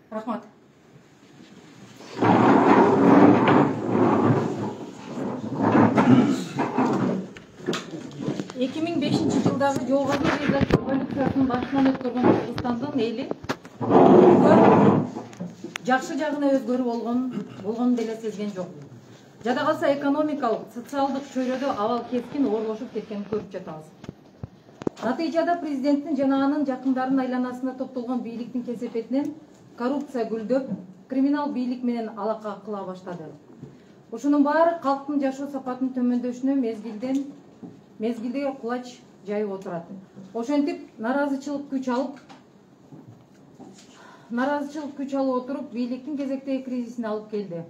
Рахмат. 2005 жылдагы жогорку революциясынын башынан өткөргөн Кыргызстандын эли жакшы жагына өзгөрүү болгонун деле сезген жок. Жада калса экономикалык, социалдык чөйрөдө абал кескин оорлошуп кеткенин көрүп жатабыз. Натыйжада президенттин жана анын жакындарынын айланасында топтолгон бийликтин кесепетинен коррупция гүлдөп, криминал бийлик менен алака кыла баштады. Ушунун баары калктын жашоо сапатынын төмөндөшүнө мезгилде кулач жайып отурат. Ошентип наразычылык күч алып отуруп бийликтин кезектеги кризисине алып келди.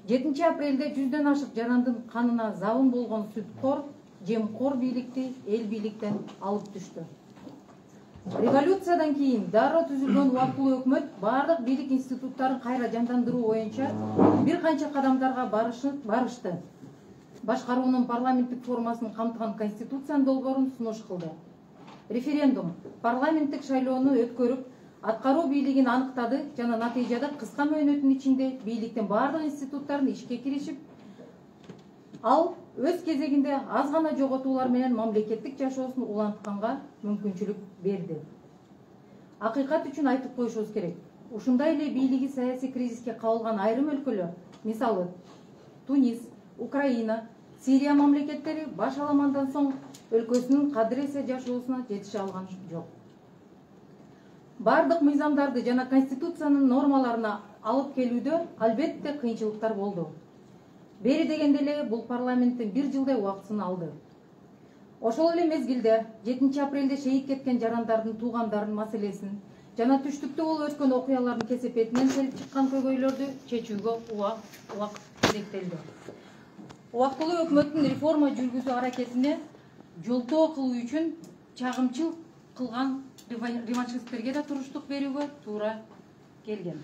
7 апрелде 100дөн ашык жарандын канына забын болгон сүткор, жемкор бийликти эл бийликтен алып түштү. Революциядан кийин дароо түзүлгөн убактылуу өкмөт бардык бийлик институттарын кайра жандандыруу боюнча бир канча кадамдарга барышты. Башкаруунун парламенттик формасынын камтыган конституциянын долбоорун сунуш кылды. Референдум парламенттик шайлоону өткөрүп, аткаруу бийлигин аныктады жана натыйжада кыска мөөнөттүн ичинде бийликтин бардык институттарын ишке киришип, ал өз кезегинде аз гана жоготуулар менен мамлекеттик жашоосун улантканга мүмкүнчүлүк берди. Акыйкат үчүн айтып коюшубуз керек. Ушундай эле бийлиги саясий кризиске кабылган айрым өлкөлөр, мисалы Тунис, Украина, Сирия мамлекеттери баш аламандан соң өлкөсүнүн кадыр-эсе жашоосуна жетише алган жок. Бардык мыйзамдарды жана конституциянын нормаларына алып келүүдө албетте кыйынчылыктар болду. Бери дегенде эле бул парламенттин 1 жылдай убактысын алды. Ошол эле мезгилде 7 апрелде шейит кеткен жарандардын туугандарынын маселесин жана түштүктө болуп өткөн окуялардын кесепетинен келип чыккан көйгөйлөрдү чечүүгө убакыт керектелди. Убактылуу өкмөттүн реформа жүргүзүү аракетине жолтоо кылуу үчүн чагымчылык кылган реваншисттерге да туруштук берүүгө туура келген.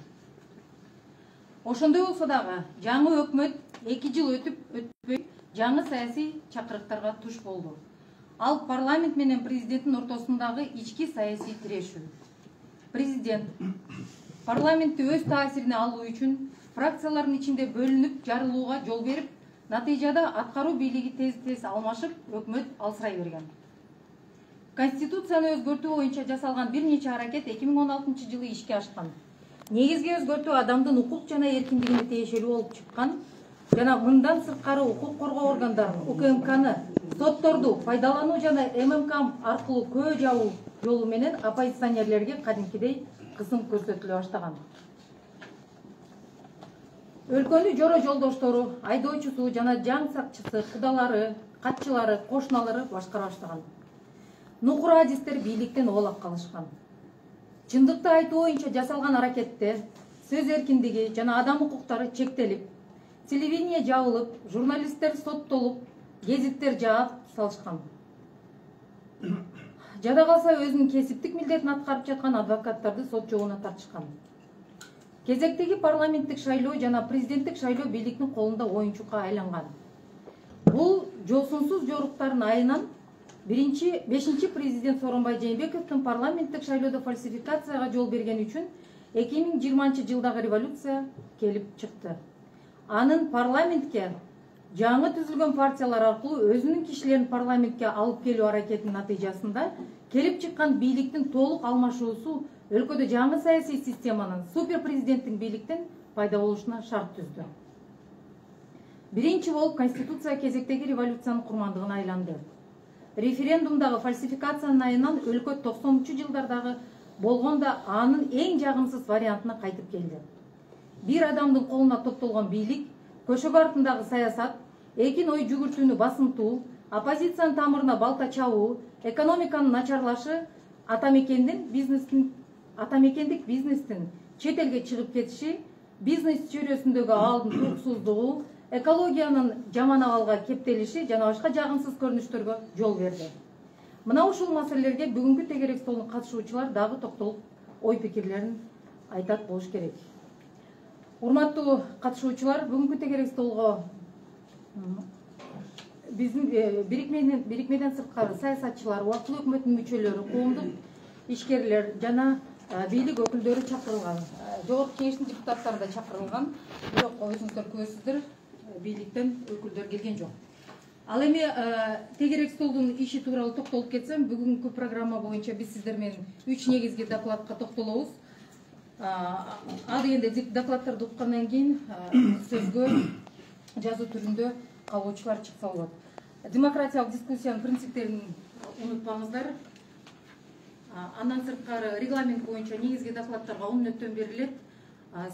Ошондой болсо дагы жаңы өкмөт 2 жыл өтпөй жаңы саясий чакырыктарга туш болду. Ал парламент менен президенттин ортосундагы ички саясий тирешүү. Президент парламентти өз таасирине алуу үчүн фракциялардын ичинде бөлүнүп жарылууга жол берип, натыйжада аткаруу бийлиги тез алмашып, өкмөт алсырай берген. Конституцияны өзгөртүү боюнча жасалган бир нече аракет 2016 жылы ишке ашкан. Негизги өзгөртүү адамдын укук жана эркиндигине тиешелүү болуп чыккан жана мындан сырткары укук коргоо органдарын, УКМКны, сотторду пайдалануу жана ММК аркылуу көө жабуу жолу менен оппозиционерлерге кадимкидей кысым көрсөтүлө баштаган. Өлкөнү жоро жолдоштору, айдоочусу жана жаң сакчысы, кудалары, катчылары, кошуналары башкара баштаган. Нукур адистер бийликтен оолак калышкан. Чындыкты айтуу боюнча жасалган аракетте сөз эркиндиги жана адам укуктары чектелип, телевидение жабылып, журналисттер соттолуп, гезиттер жаап салышкан. Жада калса өзүнүн кесиптик милдетин аткарып жаткан адвокаттарды сот жолуна тартышкан. Кезектеги парламенттик шайлоо жана президенттик шайлоо бийликтин колунда оюнчукка айланган. Бул жосунсуз жоруктардын айынан 5-чи президент Сооронбай Жээнбековдун парламенттик шайлоодо фальсификацияга жол берген үчүн 2020 жылдагы революция келип чыкты. Анын парламентке жаңы түзүлгөн партиялар аркылуу өзүнүн кишилерин парламентке алып келүү аракетинин натыйжасында келип чыккан бийликтин толук алмашуусу өлкөдө жаңы саясий системанын супер президенттин бийликтен пайда болушуна шарт түздү. Биринчи болуп конституция кезектеги революциянын курмандыгына айланды. Референдумдагы фальсификациянын айынан өлкө 90-жылдардагы болгондо анын эң жагымсыз вариантына кайтып келди. Бир адамдын колуна топтолгон бийлик, көшөгө артындагы саясат, эркин ой жүгүртүүнү басымтуу, оппозициянын тамырына балта чабуу, экономиканын начарлашы, атамекендик бизнестин чет элге чыгып кетиши, бизнес чөйрөсүндөгү абалдын туруксуздугу, экологиянын жаман абалга кептелиши жана башка жагымсыз көрүнүштөргө жол берди. Мына ушул маселелерге бүгүнкү тегерек столдун катышуучулар дагы токтолуп ой пикирлерин айтат болуш керек. Урматтуу катышуучулар, бүгүнкү тегерек столго биздин бирикмеден сырткары саясатчылар, убактылуу өкмөттүн мүчөлөрү, коомдук ишкерлер жана бийлик өкүлдөрү чакырылган. Жогорку кеңештин депутаттары да чакырылган. Бирок өзүңүздөр көрөсүздөр, бийликтен өкүлдөр келген жок. Ал эми тегерек столдун иши тууралуу токтолуп кетсем, бүгүнкү программа боюнча биз сиздер менен 3 негизги докладка токтолобуз. Ал дегенде докладдарды уккандан кийин сөзгө жазуу түрүндө кабылуучулар чыкса болот. Демократиялык дискуссиянын принциптерин унутпаңыздар. Андан сырткары регламент боюнча негизги докладдарга 10 мүнөттөн берилет.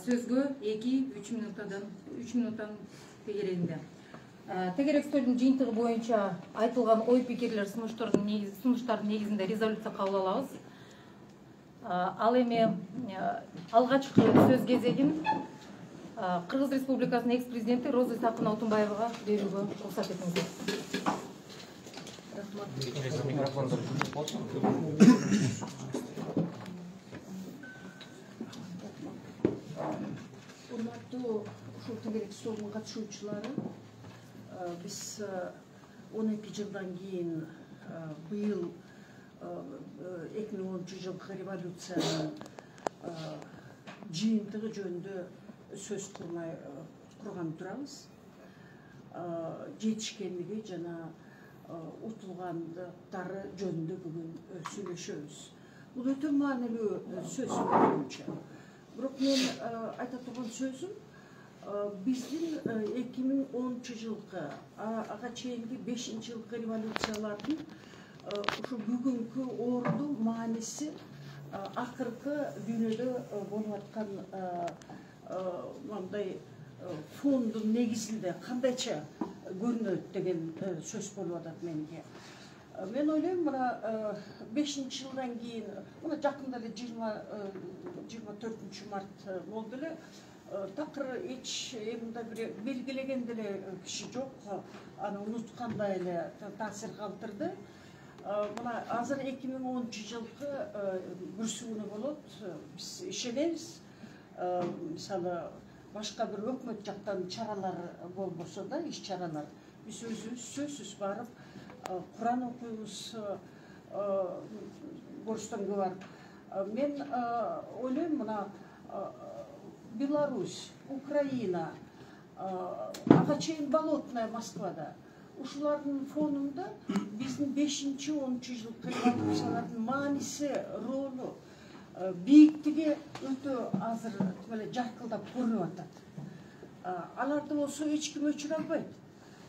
Сөзгө 2-3 минуттан тегерегинде. Тегерек столдун жыйынтыгы боюнча айтылган ой пикирлер сунуштардын негизинде резолюция кабыл алабыз. Ал эми алгачкы сөз кезегин Кыргыз Республикасынын экс-президенти Роза Исаковна Алтунбаевага берүүгө уруксат этиңиздер. Урматтуу ушул тегерек столдун катышуучулары, биз 12 жылдан кийин быйыл 2010 жылкы революциянын жыйынтыгы жөнүндө сөз курган турабыз. Жетишкендиги жана утулгандыктары жөнүндө бүгүн сүйлөшөбүз. Бул өтө маанилүү сөз боюнча. Бирок мен айта турган сөзүм, биздин 2010 жылкы ага чейинки 5-жылкы революциялардын ушу бүгүнкү орду мааниси акыркы дүйнөдө болуп аткан мындай фондун негизинде кандайча көрүнөт деген сөз болуп атат менге. Мен ойлойм, мына 5-жылдан кийин, мына жакында эле 24 март болду эле, такыр эч мындай бир белгилеген деле киши жок, аны унуткандай эле таасир калтырды. Мына азыр 2010 жылкы бүрсүгүнө болот, биз ишенебиз. Мисалы, башка бир өкмөт жактан чаралар болбосо да, иш чаралар, биз өзүбүз сөзсүз барып Куран окуйбуз, Орустан көп барып. Мен ойлойм, мына Беларусь, Украина, ага чейин Болотная Москвада, ушулардын фонунда биздин 5-10 жылкы революциялардын мааниси, ролу, бийиктиги өтө азыр жаркылдап көрүнүп атат. Аларды болсо эч ким өчүрө албайт.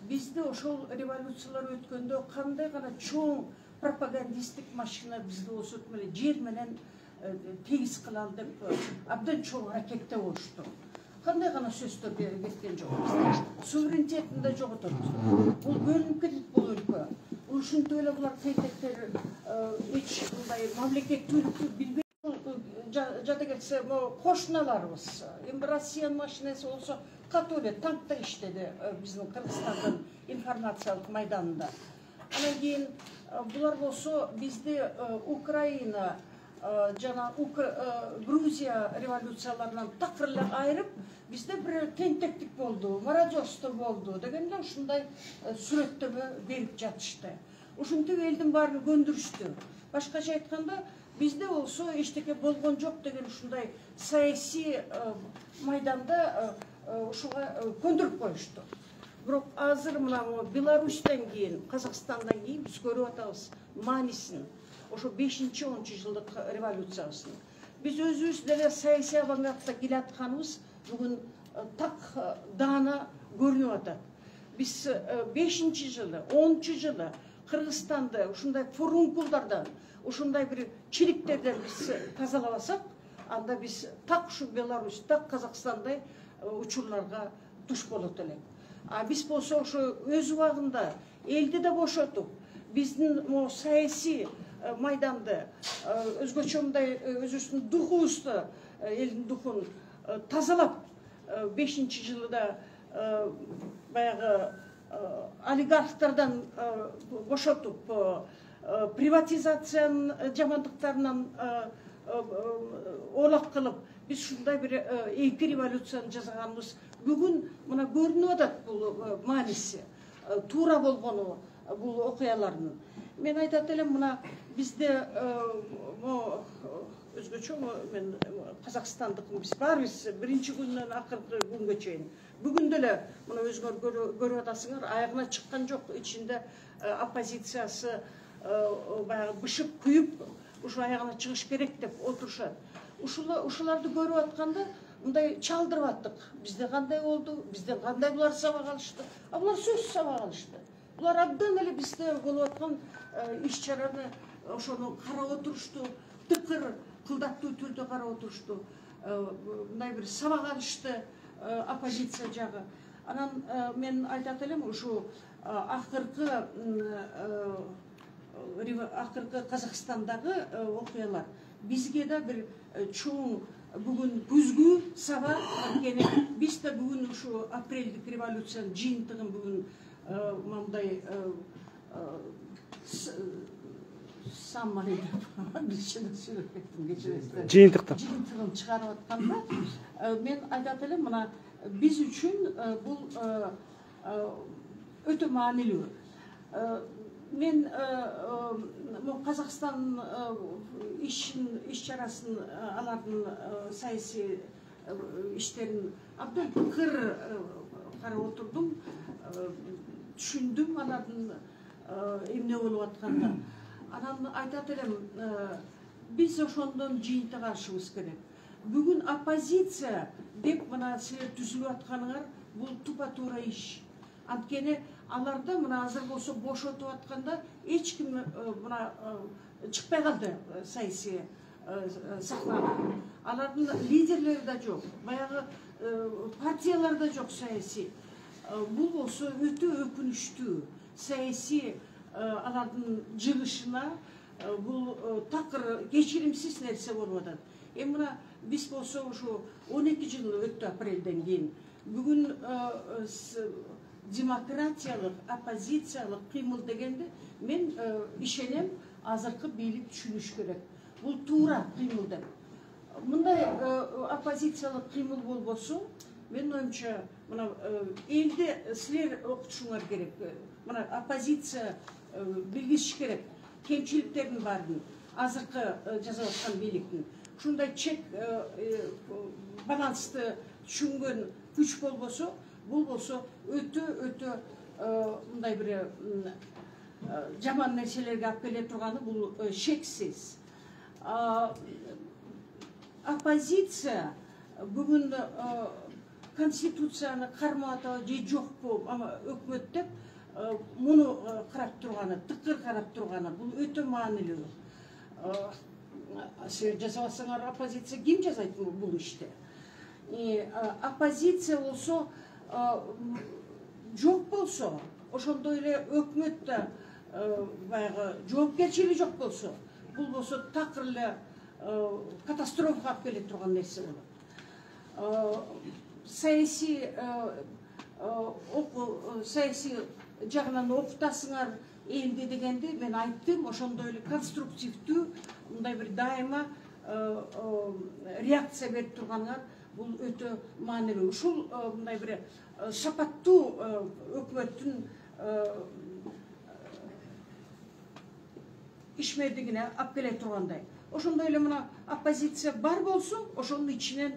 Бизде ошол революциялар өткөндө кандай гана чоң пропагандисттик машина бизде болсо жер менен тегиз кылалы деп абдан чоң аракетте болушту. Кандай гана сөздөр кеткен жок. Суверенитетин да жоготобуз. Бул бөлүнүп кетет бул өлкө. Ушинтип эле булар тейтектер эч мындай мамлекеттүүлүктү билбейт. Жада келсе, кошуналарыбыз, эми Россиянын машинеси болсо катуу эле танкта иштеди биздин Кыргызстандын информациялык майданында. Анан кийин булар болсо бизде Украина жана Грузия революцияларынан такыр эле айырып, бизде бир тентектик болду, мародерство болду деген эле ушундай сүрөттөмө берип жатышты. Ушинтип элдин баарын көндүрүштү. Башкача айтканда, бизде болсо эчтеке болгон жок деген ушундай саясий майданда ушуга көндүрүп коюшту. Бирок азыр мына Беларустан кийин, Казакстандан кийин биз көрүп атабыз маанисин, ошо 5-10 жылдык революциябыздын. Биз өзүбүз деле саясий авангардта келатканыбыз бүгүн так даана көрүнүп атат. Биз 5-жылы, 10 жылы Кыргызстанды ушундай фурункулдардан, ушундай бир чириктерден биз тазалабасак, анда биз так ушу Беларусь, так Казакстандай учурларга туш болот элек. Биз болсо ошо өз убагында элди да бошотуп, биздин саясий майданды, өзгөчө мындай өзүбүздүн духубузду, элдин духун тазалап, 5-жылда баягы олигархтардан бошотуп, приватизациянын жамандыктарынан олак кылып, биз ушундай бир эки революцияны жасаганыбыз бүгүн мына көрүнүп атат бул мааниси, туура болгону бул окуялардын. Мен айтат элем, мына бизде өзгөчө мен Казакстандыкмын. Биз баарыбыз биринчи күндөн акыркы күнгө чейин. Бүгүн деле мына өзүңөр көрүп атасыңар, аягына чыккан жок. Ичинде оппозициясы баягы бышып күйүп, ушу аягына чыгыш керек деп отурушат. Ушуларды көрүп атканда мындай чалдырып аттык. Бизде кандай болду? Бизден кандай булар сабак алышты? Булар сөзсүз сабак алышты. Булар абдан эле бизде болуп аткан иш-чараны ошону карап отурушту, тыкыр кылдаттуу түрдө карап отурушту. Мындай бир сабак алышты оппозиция жагы. Анан мен айтат элем, ушу акыркы Казакстандагы окуялар бизге да бир чоң бүгүн күзгү сабак. Анткени биз да бүгүн ушу апрелдик революциянын жыйынтыгын бүгүн мындай жыйынтыгын чыгарып атканда мен айтат элем, мына биз үчүн бул өтө маанилүү. Мен Казакстан иш-чарасын, алардын саясий иштерин абдан тыкыр карап отурдум, түшүндүм алардын эмне болуп атканда. Анан айтат элем, биз ошондон жыйынтык алышыбыз керек. Бүгүн оппозиция деп мына силер түзүлүп атканыңар бул тупа-туура иш. Анткени аларда мына азыр болсо бошотуп атканда эч ким мына чыкпай калды саясий сахнага. Алардын лидерлери да жок, баягы партиялар да жок саясий. Бул болсо өтө өкүнүчтүү. Саясий алардын жыгышына бул такыр кечиримсиз нерсе болуп атат. Эми мына биз болсо ушу 12 жыл өттү апрелден кийин. Бүгүн демократиялык, оппозициялык кыймыл дегенде мен ишенем, азыркы бийлик түшүнүш керек. Бул туура кыймыл деп. Мындай оппозициялык кыймыл болбосо, мен оюмча, мына элде силер окутушуңар керек. Мына оппозиция билгизиш керек кемчиликтердин баарын, азыркы жасап аткан бийликтин. Ушундай чек балансты түшүнгөн күч болбосо, бул болсо өтө мындай бир жаман нерселерге алып келе турганы бул шексиз. Оппозиция бүгүн конституцияны кармап атабы же жокпу, ама өкмөт деп муну карап турганы, тыкыр карап турганы бул өтө маанилүү. Силер жасабасаңар, оппозиция ким жасайт бул ишти? Оппозиция болсо жок болсо, ошондой эле өкмөт да баягы жоопкерчилиги жок болсо, бул болсо такыр эле катастрофага алып келе турган нерсе болот. Саясий жагынан окутасыңар элди дегенде мен айттым, ошондой эле конструктивдүү, мындай бир дайыма реакция берип турганыңар бул өтө маанилүү. Ушул мындай бир шапаттуу өкмөттүн ишмердигине алып келе тургандай. Ошондой эле мына оппозиция бар болсо, ошонун ичинен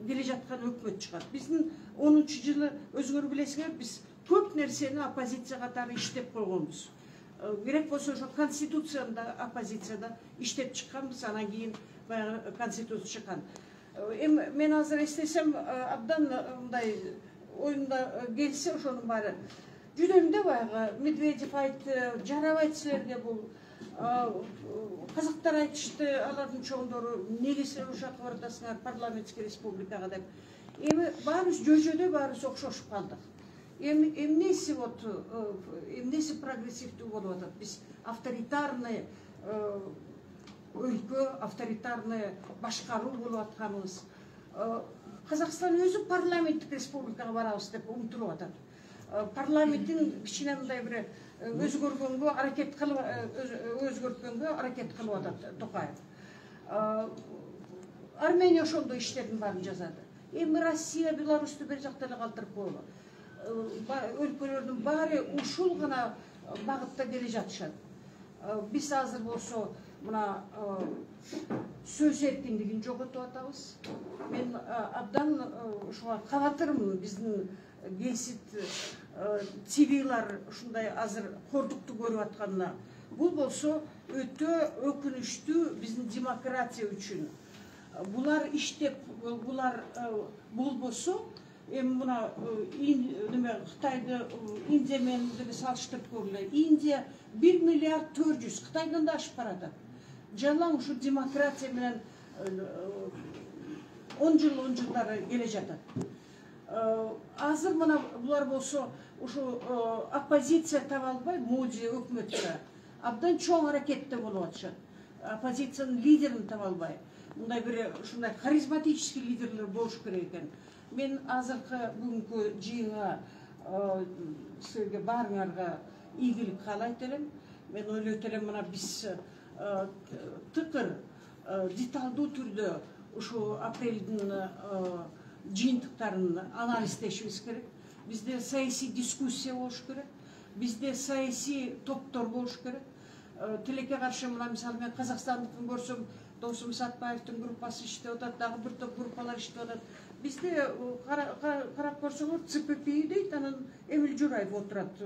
келе жаткан өкмөт чыгат. Биздин 10-жылы өзүңөр билесиңер, биз көп нерсени оппозиция катары иштеп койгонбуз. Керек болсо ошо конституцияда оппозицияда иштеп чыкканбыз, анан кийин баягы конституция чыккан. Эми мен азыр эстесем, абдан мындай оюмда келсе ошонун баары жүдөрүндө баягы Медведев айтты, жарабайт силерге бул. Казактар айтышты, алардын чоңдору, неге силер ушакка баратасыңар парламентский республикага деп. Эми баарыбыз жөжөдө баарыбыз окшошуп калдык. Эмнеси вот, эмнеси прогрессивдүү болуп атат? Биз авторитарный өлкө, авторитарный башкаруу болуп атканыбыз. Казакстан өзү парламенттик республикага барабыз деп умтулуп атат. Парламенттин кичине мындай бир өзгөрткөнгө аракет кылып атат Токаев. Армения ошондой иштердин баарын жасады. Эми Россия, Беларусьту бир жакта эле калтырып коелу. Өлкөлөрдүн баары ушул гана багытта келе жатышат. Биз азыр болсо мына сөз эркиндигин жоготуп атабыз. Мен абдан ушуга кабатырмын. Биздин генсит цивилар ушундай азыр кордукту көрүп атканына. Бул болсо өтө өкүнүчтүү биздин демократия үчүн. Булар иштеп, булар болбосо, эми мына Кытайды Индия менен деле салыштырып көргүлө. Индия 1 миллиард 400, Кытайдан да ашып баратат. Жалаң ушу демократия менен 10 жылдары келе жатат. Азыр мына булар болсо ушу оппозиция таба албай, Моди өкмөткө абдан чоң аракетте болуп атышат. Оппозициянын лидерин таба албай. Мындай бир ушундай харизматический лидерлер болуш керек экен. Мен азыркы бүгүнкү жыйынга силерге баарыңарга ийгилик каалайт элем. Мен ойлойт элем, мына биз тыкыр деталдуу түрдө ушу апрелдин жыйынтыктарын анализдешибиз керек. Бизде саясий дискуссия болуш керек. Бизде саясий топтор болуш керек. Тилекке каршы мына мисалы мен Казакстандыкын көрсөм, Досум Сатпаевдин группасы иштеп атат, дагы бир топ группалар иштеп атат. Бизде карап көрсөңөр ЦПП дейт, анан Эмил Жураев отурат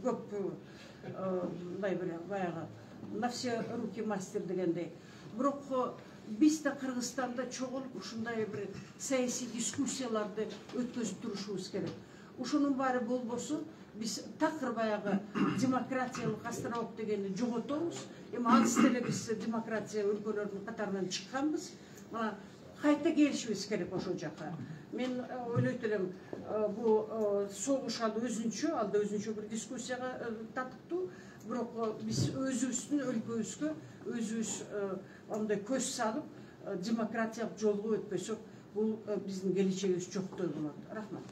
көп мындай бир баягы на все руки мастер дегендей. Бирок биз да Кыргызстанда чогулуп ушундай бир саясий дискуссияларды өткөзүп турушубуз керек. Ушунун баары болбосо биз такыр баягы демократиялык островок дегенди жоготобуз. Эми аныс деле биз демократия өлкөлөрүнүн катарынан чыкканбыз. Мына кайта келишибиз керек ошол жака. Мен ойлойт элем, бул согуш ал өзүнчө бир дискуссияга татыктуу. Бирок биз өзүбүздүн өлкөбүзгө өзүбүз андай көз салып, демократиялык жолго өтпөсөк, бул биздин келечегибиз жоктой болот. Рахмат.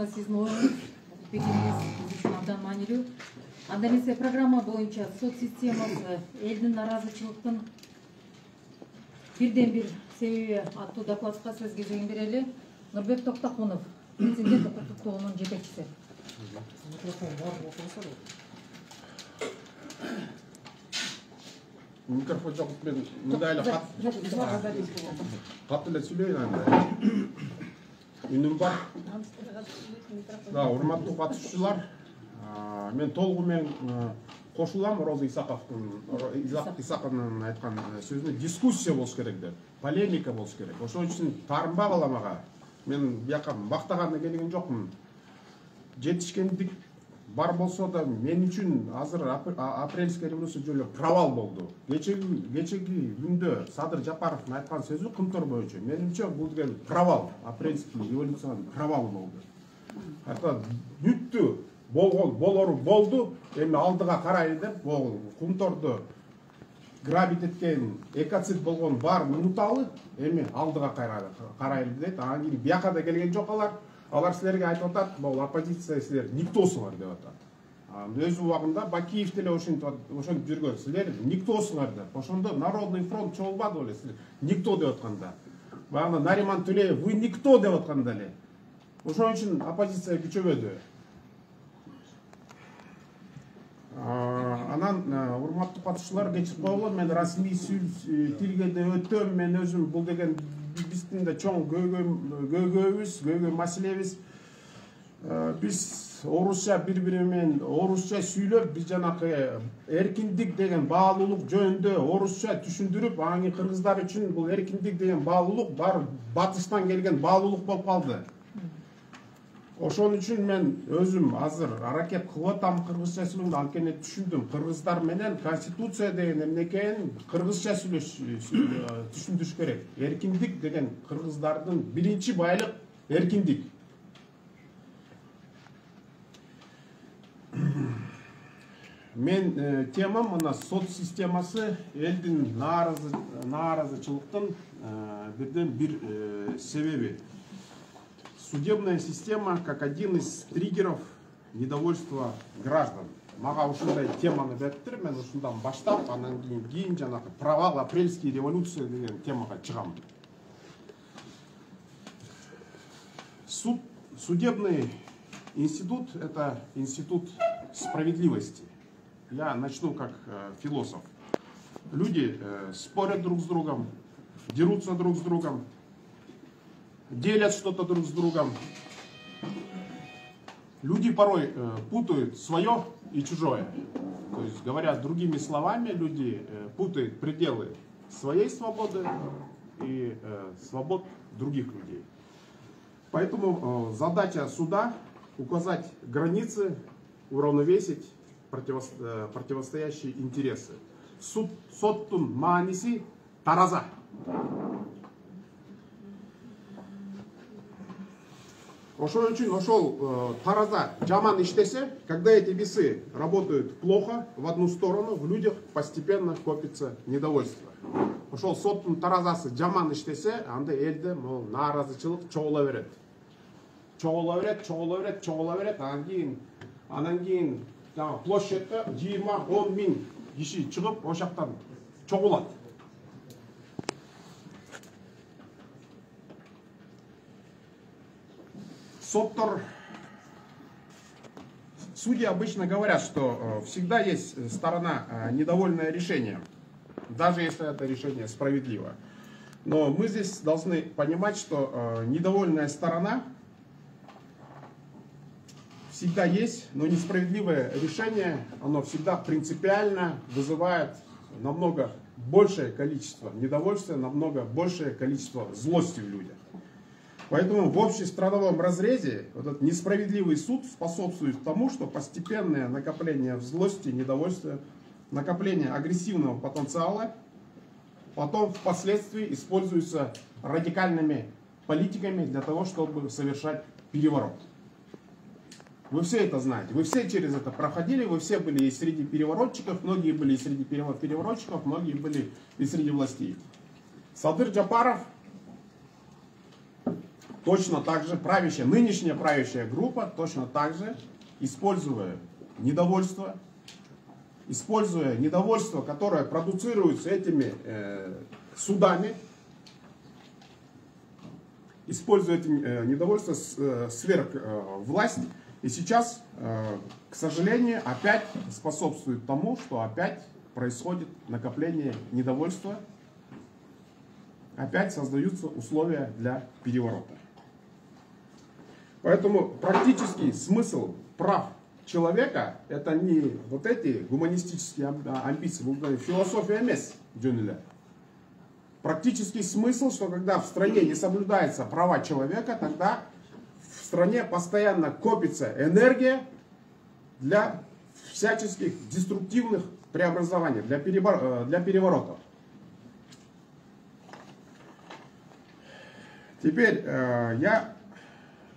Сиздин оюңуз, пикириңиз биз үчүн абдан маанилүү. Анда эмесе программа боюнча сот системасы элдин наразычылыктын бирден бир себеби аттуу докладка сөз кезегин берели. Нурбек Токтокунов, Президент укуктук тобунун жетекчиси. Микрофон жок, мен мындай эле кат эле сүйлөйүн анда. Үнүм бар. Да, урматтуу катышуучулар, мен толугу менен кошулам Роза Исаковдун айткан сөзүнө. Дискуссия болуш керек деп, полемика болуш керек. Ошон үчүн таарынбай калам ага. Мен бияка мактаганына келген жокмун. Жетишкендик бар болсо да мен үчүн азыр апрельская революция жолу провал болду. Кечеги күндө Садыр Жапаровдун айткан сөзү кымтор боюнча менимче бул деген провал, апрельский революциянын провалы болду. Ата бүттү, болору болду, эми алдыга карайлы деп, бул кумторду грабит эткен, экоцид болгон баарын унуталы, эми алдыга карайлы дейт. Анан кийин бияка да келген жок алар. Алар силерге айтып атат, бул оппозиция силер никтосуңар деп атат. Өз убагында Бакиев деле ошентип жүргөн. Силер никтосуңар деп. Ошондо Народный фронт чогулбады беле силер никто деп атканда. Баягы Нариман Тулеев вы никто деп атканда эле. Ошон үчүн оппозиция күчөбөдү. Анан урматтуу катышуучулар, кечирип койгула, мен расмий тилге да өтөм. Мен өзүм бул деген биздин да чоң көйгөйүбүз, маселебиз. Биз орусча бири-бири менен орусча сүйлөп, биз жанакы эркиндик деген баалуулук жөнүндө орусча түшүндүрүп, анан кийин кыргыздар үчүн бул эркиндик деген баалуулук бар батыштан келген баалуулук болуп калды. Ошон үчүн мен өзүм азыр аракет кылып атам кыргызча сүйлөөгө, анткени түшүндүм. Кыргыздар менен конституция деген эмнекени кыргызча түшүндүрүш керек. Эркиндик деген кыргыздардын биринчи байлык эркиндик. Мен темам мына сот системасы элдин нааразычылыктын бирден бир себеби. Судебная система как один из триггеров недовольства граждан. Мага ушундай теманы бериптир, мен ушундан баштап, анан кийин жанакы провал апрельский революция деген темага чыгам. Судебный институт – это институт справедливости. Я начну как философ. Люди спорят друг с другом, дерутся друг с другом, делят что-то друг с другом. Люди порой путают свое и чужое. То есть, говоря другими словами, люди путают пределы своей свободы и свобод других людей. Поэтому задача суда – указать границы, уравновесить противостоящие интересы. Соттун мааниси тараза. Ошол үчүн ошол тараза жаман иштесе, когда эти весы работают плохо в одну сторону, в людях постепенно копится недовольство. Ошол соттун таразасы жаман иштесе, анда элде могу нааразычылык чогула берет. Чогула берет, анан кийин площадьте 20-10 миң киши чыгып, ошактан чогулат. Судьи обычно говорят, что всегда есть сторона недовольная решением, даже если это решение справедливо. Но мы здесь должны понимать, что недовольная сторона всегда есть, но несправедливое решение, оно всегда принципиально вызывает намного большее количество недовольствия, намного большее количество злости в людях. Поэтому в общестрановом разрезе этот несправедливый суд способствует тому, что постепенное накопление злости, недовольствия, накопление агрессивного потенциала потом впоследствии используется радикальными политиками для того, чтобы совершать переворот. Вы все это знаете, вы все через это проходили, вы все были и среди переворотчиков, многие были и среди переворотчиков, многие были и среди властей. Садыр Джапаров точно так же, нынешняя правящая группа, точно так же, используя недовольство, которое продуцируется этими судами, используя это недовольство сверхвласть, и сейчас, к сожалению, опять способствует тому, что опять происходит накопление недовольства, опять создаются условия для переворота. Поэтому практический смысл прав человека — это не вот эти гуманистические амбиции, философия мес дюнеля. Практический смысл, что когда в стране не соблюдаются права человека, тогда в стране постоянно копится энергия для всяческих деструктивных преобразований, для переворотов. Теперь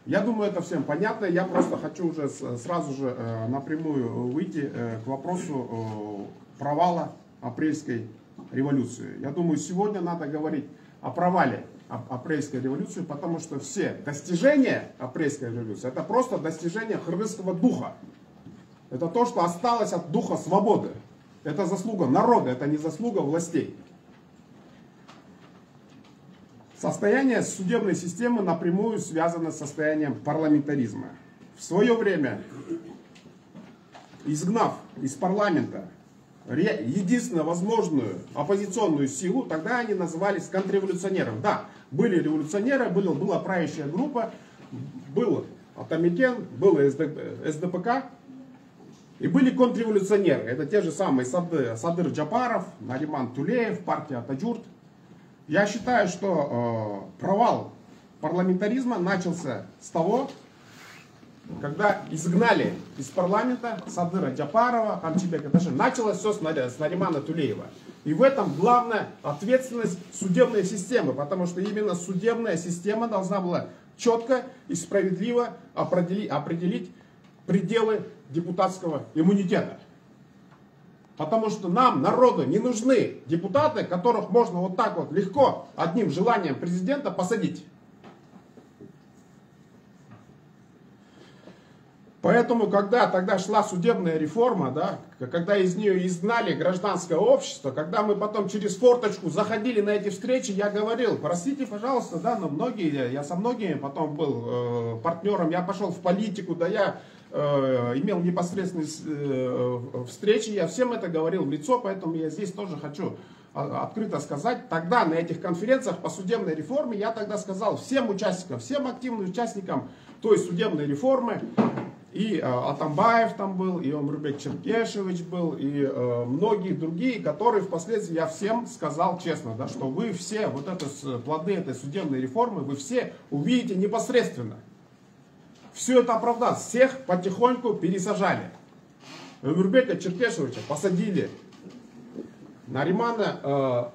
я думаю, это всем понятно. Я просто хочу уже сразу же напрямую выйти к вопросу провала апрельской революции. Я думаю, сегодня надо говорить о провале апрельской революции, потому что все достижения апрельской революции — это просто достижения кыргызского духа. Это то, что осталось от духа свободы. Это заслуга народа, это не заслуга властей. Состояние судебной системы напрямую связано с состоянием парламентаризма. В свое время, изгнав из парламента единственную возможную оппозиционную силу, тогда они назывались контрреволюционерами. Да, были революционеры, была правящая группа, был Атамекен, был СДПК, и были контрреволюционеры. Это те же самые Садыр Джапаров, Нариман Тулеев, партия Атаджурт. Я считаю, что провал парламентаризма начался с того, когда изгнали из парламента Садыра Джапарова, Хамчибека Таши. Началось все с Наримана Тулеева. И в этом главная ответственность судебной системы, потому что именно судебная система должна была четко и справедливо определить пределы депутатского иммунитета. Потому что нам, народу, не нужны депутаты, которых можно вот так вот легко, одним желанием президента посадить. Поэтому, когда тогда шла судебная реформа, да, когда из нее изгнали гражданское общество, когда мы потом через форточку заходили на эти встречи, я говорил, простите, пожалуйста, да, но многие, я со многими потом был партнером, я пошел в политику, да, я имел непосредственные встречи, я всем это говорил в лицо, поэтому я здесь тоже хочу открыто сказать. Тогда на этих конференциях по судебной реформе я тогда сказал всем участникам, всем активным участникам той судебной реформы, и Атамбаев там был, и Омурбек Черкешевич был, и многие другие, которые впоследствии я всем сказал честно, да, что вы все, вот это плоды этой судебной реформы, вы все увидите непосредственно. Все это оправдалось, всех потихоньку пересажали. Омурбека Черкешевича посадили, Наримана,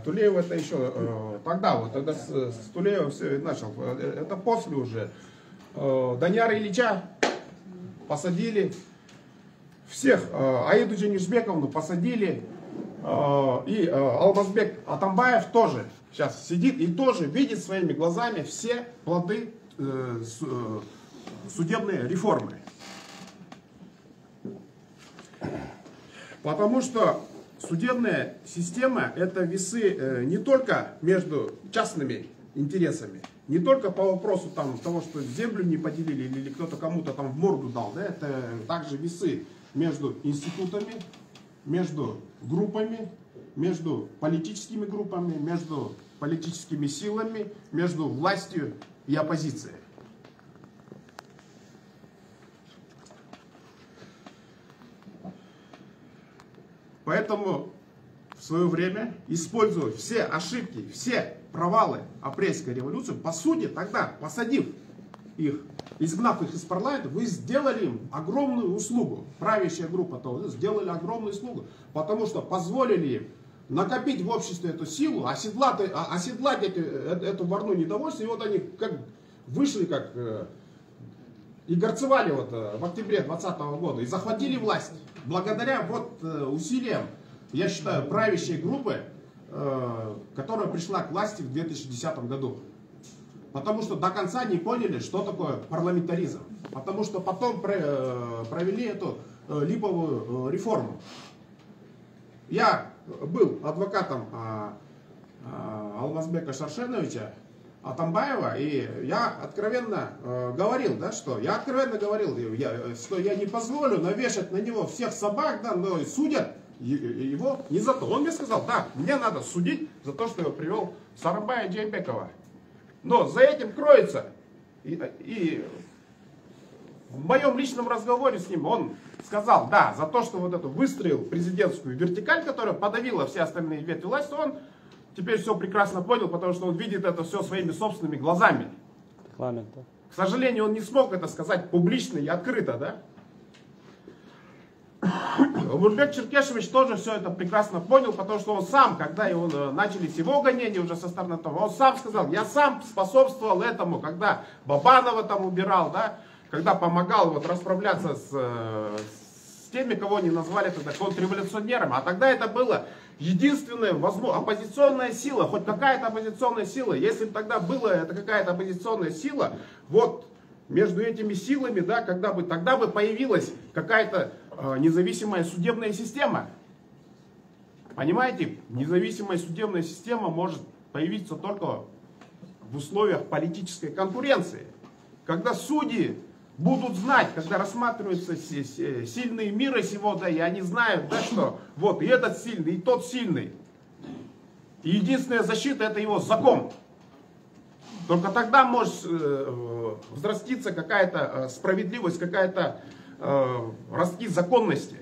Тулеева это еще тогда, вот тогда с Тулеева все начал, это после уже. Данияра Ильича посадили, всех, Аиду Джанишбековну посадили, и Алмазбек Атамбаев тоже сейчас сидит и тоже видит своими глазами все плоды судебной реформы. Потому что судебная система — это весы не только между частными интересами, не только по вопросу там, того, что землю не поделили или кто-то кому-то там в морду дал, да, это также весы между институтами, между группами, между политическими группами, между политическими силами, между властью и оппозицией. Поэтому в свое время использовать все ошибки, все провалы апрельской революции, по сути, тогда, посадив их, изгнав их из парламента, вы сделали им огромную услугу. Правящая группа того сделали огромную услугу, потому что позволили им накопить в обществе эту силу, оседлать эту волну недовольства, и вот они как вышли, как и горцевали вот в октябре 2020 года, и захватили власть. Благодаря вот усилиям, я считаю, правящей группы, которая пришла к власти в 2010 году. Потому что до конца не поняли, что такое парламентаризм. Потому что потом провели эту липовую реформу. Я был адвокатом Алмазбека Шаршеновича Атамбаева, и я откровенно говорил, да, что я не позволю навешать на него всех собак, да, но судят его не за то. Он мне сказал, да, мне надо судить за то, что его привел Сооронбая Джеймбекова. Но за этим кроется, и в моем личном разговоре с ним он сказал, да, за то, что вот эту выстроил президентскую вертикаль, которая подавила все остальные ветви власти, он теперь все прекрасно понял, потому что он видит это все своими собственными глазами. К сожалению, он не смог это сказать публично и открыто, да? Омурбек Черкешевич тоже все это прекрасно понял, потому что он сам, когда начались его гонения уже со стороны того, он сам сказал, я сам способствовал этому, когда Бабанова там убирал, да, когда помогал вот расправляться с теми, кого они назвали тогда контрреволюционерами, а тогда это было единственная оппозиционная сила, хоть какая-то оппозиционная сила, если бы тогда была это какая-то оппозиционная сила, вот между этими силами, да, тогда бы появилась какая-то независимая судебная система. Понимаете, независимая судебная система может появиться только в условиях политической конкуренции. Когда судьи будут знать, когда рассматриваются сильные мира сего, да, и они знают, да, что вот и этот сильный, и тот сильный. И единственная защита — это его закон. Только тогда может взраститься какая-то справедливость, какая-то ростки законности.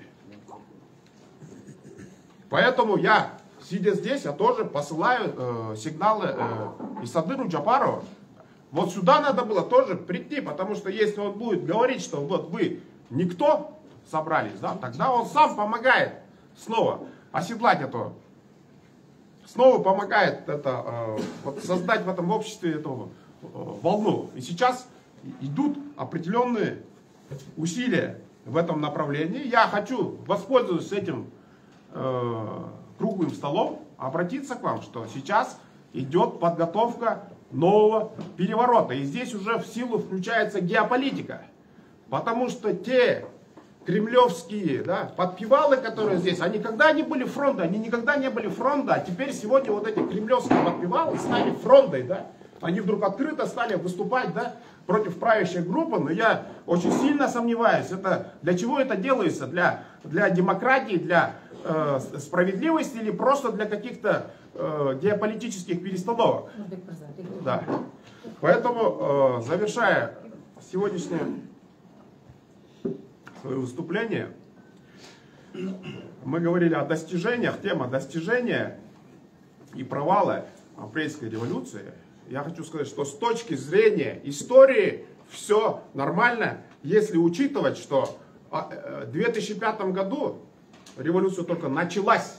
Поэтому я, сидя здесь, я тоже посылаю сигналы Исадыру Джапарову. Вот сюда надо было тоже прийти, потому что если он будет говорить, что вот вы никто собрались, да, тогда он сам помогает снова оседлать эту, снова помогает это, вот создать в этом обществе эту волну. И сейчас идут определенные усилия в этом направлении. Я хочу, воспользуясь этим круглым столом, обратиться к вам, что сейчас идет подготовка нового переворота. И здесь уже в силу включается геополитика. Потому что те кремлевские, да, подпевалы, которые здесь, они никогда не были фронта, они никогда не были фронта, а теперь сегодня вот эти кремлевские подпевалы стали фронтой, да. Они вдруг открыто стали выступать, да, против правящей группы, но я очень сильно сомневаюсь, для чего это делается, для демократии, для справедливости или просто для каких-то геополитических перестановок. Да. Поэтому, завершая сегодняшнее свое выступление, мы говорили о достижениях, тема достижения и провала апрельской революции. Я хочу сказать, что с точки зрения истории все нормально, если учитывать, что в 2005 году революция только началась.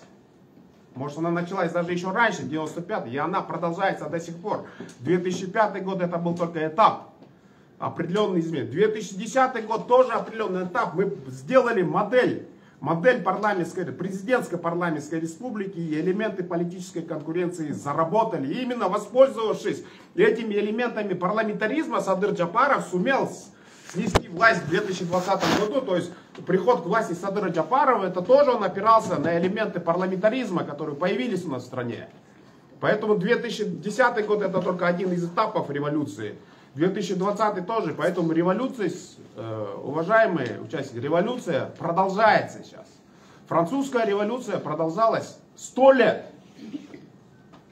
Может, она началась даже еще раньше, 95-й, и она продолжается до сих пор. 2005 год это был только этап, определенный изменения. 2010 год тоже определенный этап. Мы сделали модель парламентской, президентской парламентской республики, и элементы политической конкуренции заработали. И именно воспользовавшись этими элементами парламентаризма, Садыр Джапаров сумел снести власть в 2020 году. То есть приход к власти Садыра Джапарова, это тоже он опирался на элементы парламентаризма, которые появились у нас в стране. Поэтому 2010 год это только один из этапов революции. 2020 тоже. Поэтому революция, уважаемые участники, революция продолжается сейчас. Французская революция продолжалась 100 лет.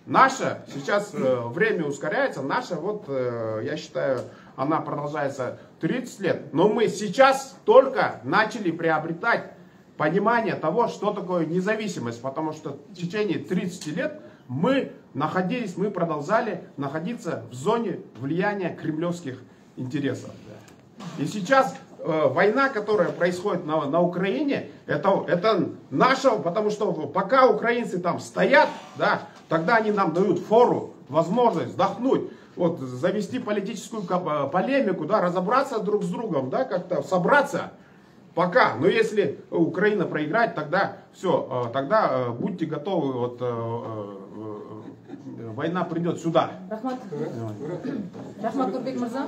Наша, сейчас время ускоряется, наша, вот, я считаю, она продолжается 30 лет. Но мы сейчас только начали приобретать понимание того, что такое независимость. Потому что в течение 30 лет мы продолжали находиться в зоне влияния кремлевских интересов. И сейчас война, которая происходит на Украине, это наша, потому что пока украинцы там стоят, да, тогда они нам дают фору, возможность вдохнуть, вот, завести политическую полемику, да, разобраться друг с другом, да, как-то собраться. Пока. Но если Украина проиграет, тогда все, тогда будьте готовы, вот, война придет сюда. Рахмат Нурбек Мырза.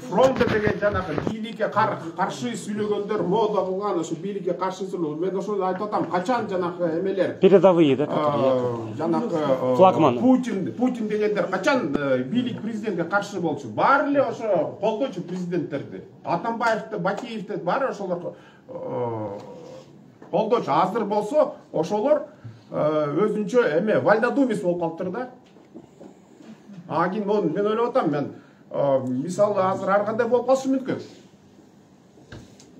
Фронт деген жанагы бийликке каршы сүйлөгөндөр мода кылган ошо бийликке каршы сүйлөө. Мен ошону айтып атам, качан жанагы эмелер передовые, да, жанагы флагман Путин дегендер качан бийлик президентке каршы болчу? Баары эле ошо колдойчу президенттерди. Атамбаевди, Бакиевди баары ошолор колдойчу. Азыр болсо ошолор өзүнчө эме вальнодумец болуп калыптыр да. Агин мен ойлоп атам, мен мисалы азыр ар кандай болуп калышы мүмкүн.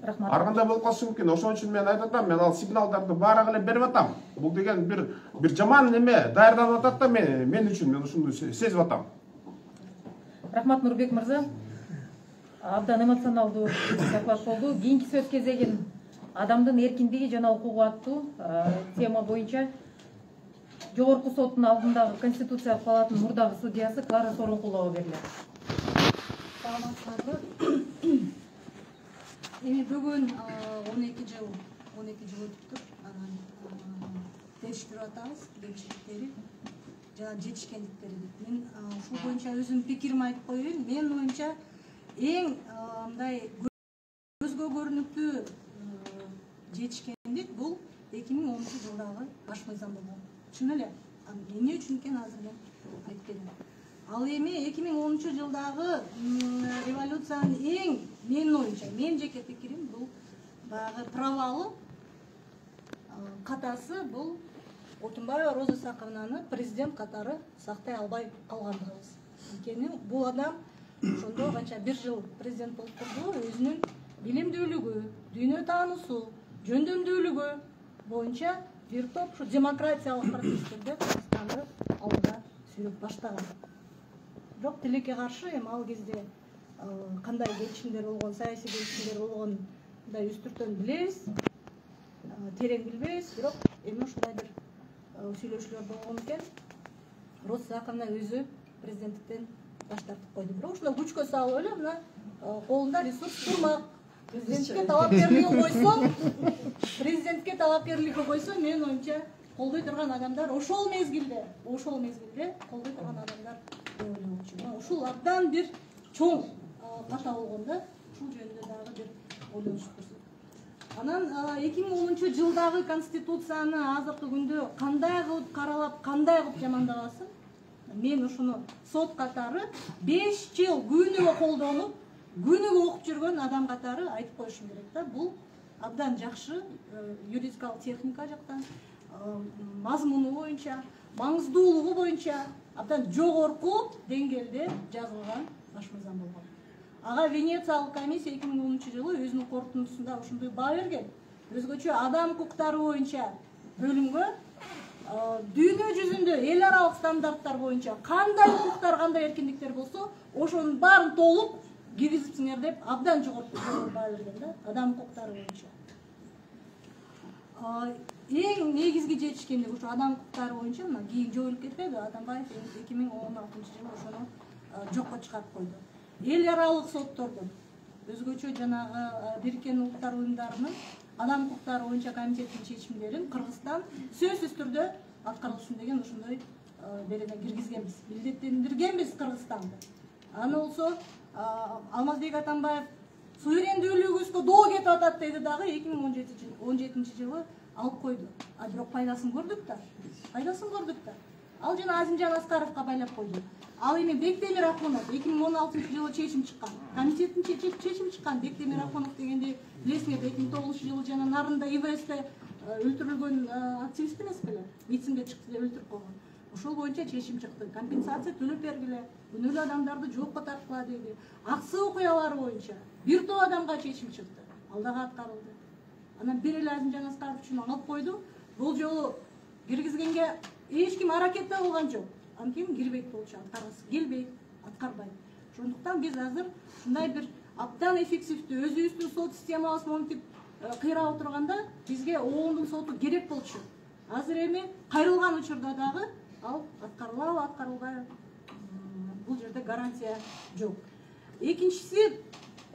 Рахмат. Ар кандай болуп калышы мүмкүн. Ошон үчүн мен айтып атам, мен ал сигналдарды баарак эле берип атам. Бул деген бир жаман неме даярданып атат да мен үчүн, мен ушуну сезип атам. Рахмат Нурбек Мырза. Абдан эмоционалдуу доклад болду. Кийинки сөз кезегин адамдын эркиндиги жана укугу аттуу тема боюнча Жогорку соттун алдындагы Конституциялык палатанын мурдагы судьясы Клара Сооронкулова берилет. Саламатсыздарбы? Эми бүгүн 12 жыл өтүптүр. Анан териштирип атабыз кемчиликтери жана жетишкендиктери. Мен ушул боюнча өзүмдүн пикиримди айтып коеюн. Менин оюмча эң мындай көзгө көрүнүктүү жетишкендик бул 2010-жылдагы баш мыйзам болгон. Чын эле. Эмне үчүн экен азыр мен айтып берем. Ал эми 2010-жылдагы революциянын эң менин оюмча, менин жеке пикирим бул баягы провалы, катасы бул Отунбаева Роза Сакыновнаны президент катары сактай албай калгандыгыбыз. Анткени бул адам ошондо канча 1 жыл президент болуп турду, өзүнүн билимдүүлүгү, дүйнө таануусу, жөндөмдүүлүгү боюнча бир топ ушу демократиялык процесстерди Кыргызстанды алга сүйрөп баштаган. Бирок тилекке каршы эми ал кезде кандай келишимдер болгон, саясий келишимдер болгон мындай үстүртөн билебиз, терең билбейбиз, бирок эми ушундай бир сүйлөшүүлөр болгон экен. Роза Сакыновна өзү президенттиктен баш тартып койду. Бирок ушуну күчкө салып эле мына колунда ресурс турмак, президентке талапкерлиги койсо, менин оюмча колдой турган адамдар ошол мезгилде колдой турган адамдар деп ойлоймун. Ушул абдан бир чоң ката болгон да, ушул жөнүндө дагы бир ойлонуш көрсөт. Анан 2010 жылдагы конституцияны азыркы күндө кандай кылып каралап, кандай кылып жамандабасын, мен ушуну сот катары 5 жыл күнүгө колдонуп, күнүгө окуп жүргөн адам катары айтып коюшум керек да. Бул абдан жакшы юридикалык техника жактан, мазмуну боюнча, маңыздуулугу боюнча абдан жогорку деңгээлде жазылган баш мыйзам болгон. Ага Венециялык комиссия 2010 жылы өзүнүн корутундусунда ушундай баа берген. Өзгөчө адам укуктары боюнча бөлүмгө дүйнө жүзүндө эл аралык стандарттар боюнча кандай укуктар, кандай эркиндиктер болсо, ошонун баарын толук киргизипсиңер деп абдан жогорку баа берген да, адам укуктары боюнча. Эң негизги жетишкендик ушу адам укуктары боюнча мына кийин жоюлуп кетпеди. Атамбаев 2016 жылы ошону жокко чыгарып койду. Эл аралык соттордун, өзгөчө жанагы Бириккен Улуттар Уюмдарынын адам укуктары боюнча комитетинин чечимдерин Кыргызстан сөзсүз түрдө аткарылсын деген ошондой берене киргизгенбиз, милдеттендиргенбиз Кыргызстанды. Аны болсо Алмазбек Атамбаев суверендүүлүгүбүзгө доо кетип атат деди дагы 2017 жылы алып койду. Бирок пайдасын көрдүк да. Ал жана Азимжан Аскаровго байлап койду. Ал эми Бектемир Акунов 2016 жылы чечим чыккан. Комитеттин чечими чыккан. Бектемир Акунов дегенди билесиңер, 2009 жылы жана Нарында ИВСте өлтүрүлгөн активист эмес беле? Митингге чыкты деп өлтүрүп койгон. Ошол боюнча чечим чыкты. Компенсация төлөп бергиле, күнөөлүү адамдарды жоопко тарткыла деди. Аксы окуялары боюнча бир топ адамга чечим чыкты. Ал дагы аткарылды. Анан бир эле Азимжан Аскаров үчүн алып койду. Бул жолу киргизгенге эч ким аракет да кылган жок. Анткени кирбейт болчу, аткаргысы келбейт, аткарбайт. Ошондуктан биз азыр ушундай бир абдан эффективдүү өзүбүздүн сот системабыз монтип кыйрап отурганда бизге ООНдун соту керек болчу. Азыр эми кайрылган учурда дагы ал аткарылабы, аткарылбайбы, бул жерде гарантия жок. Экинчиси,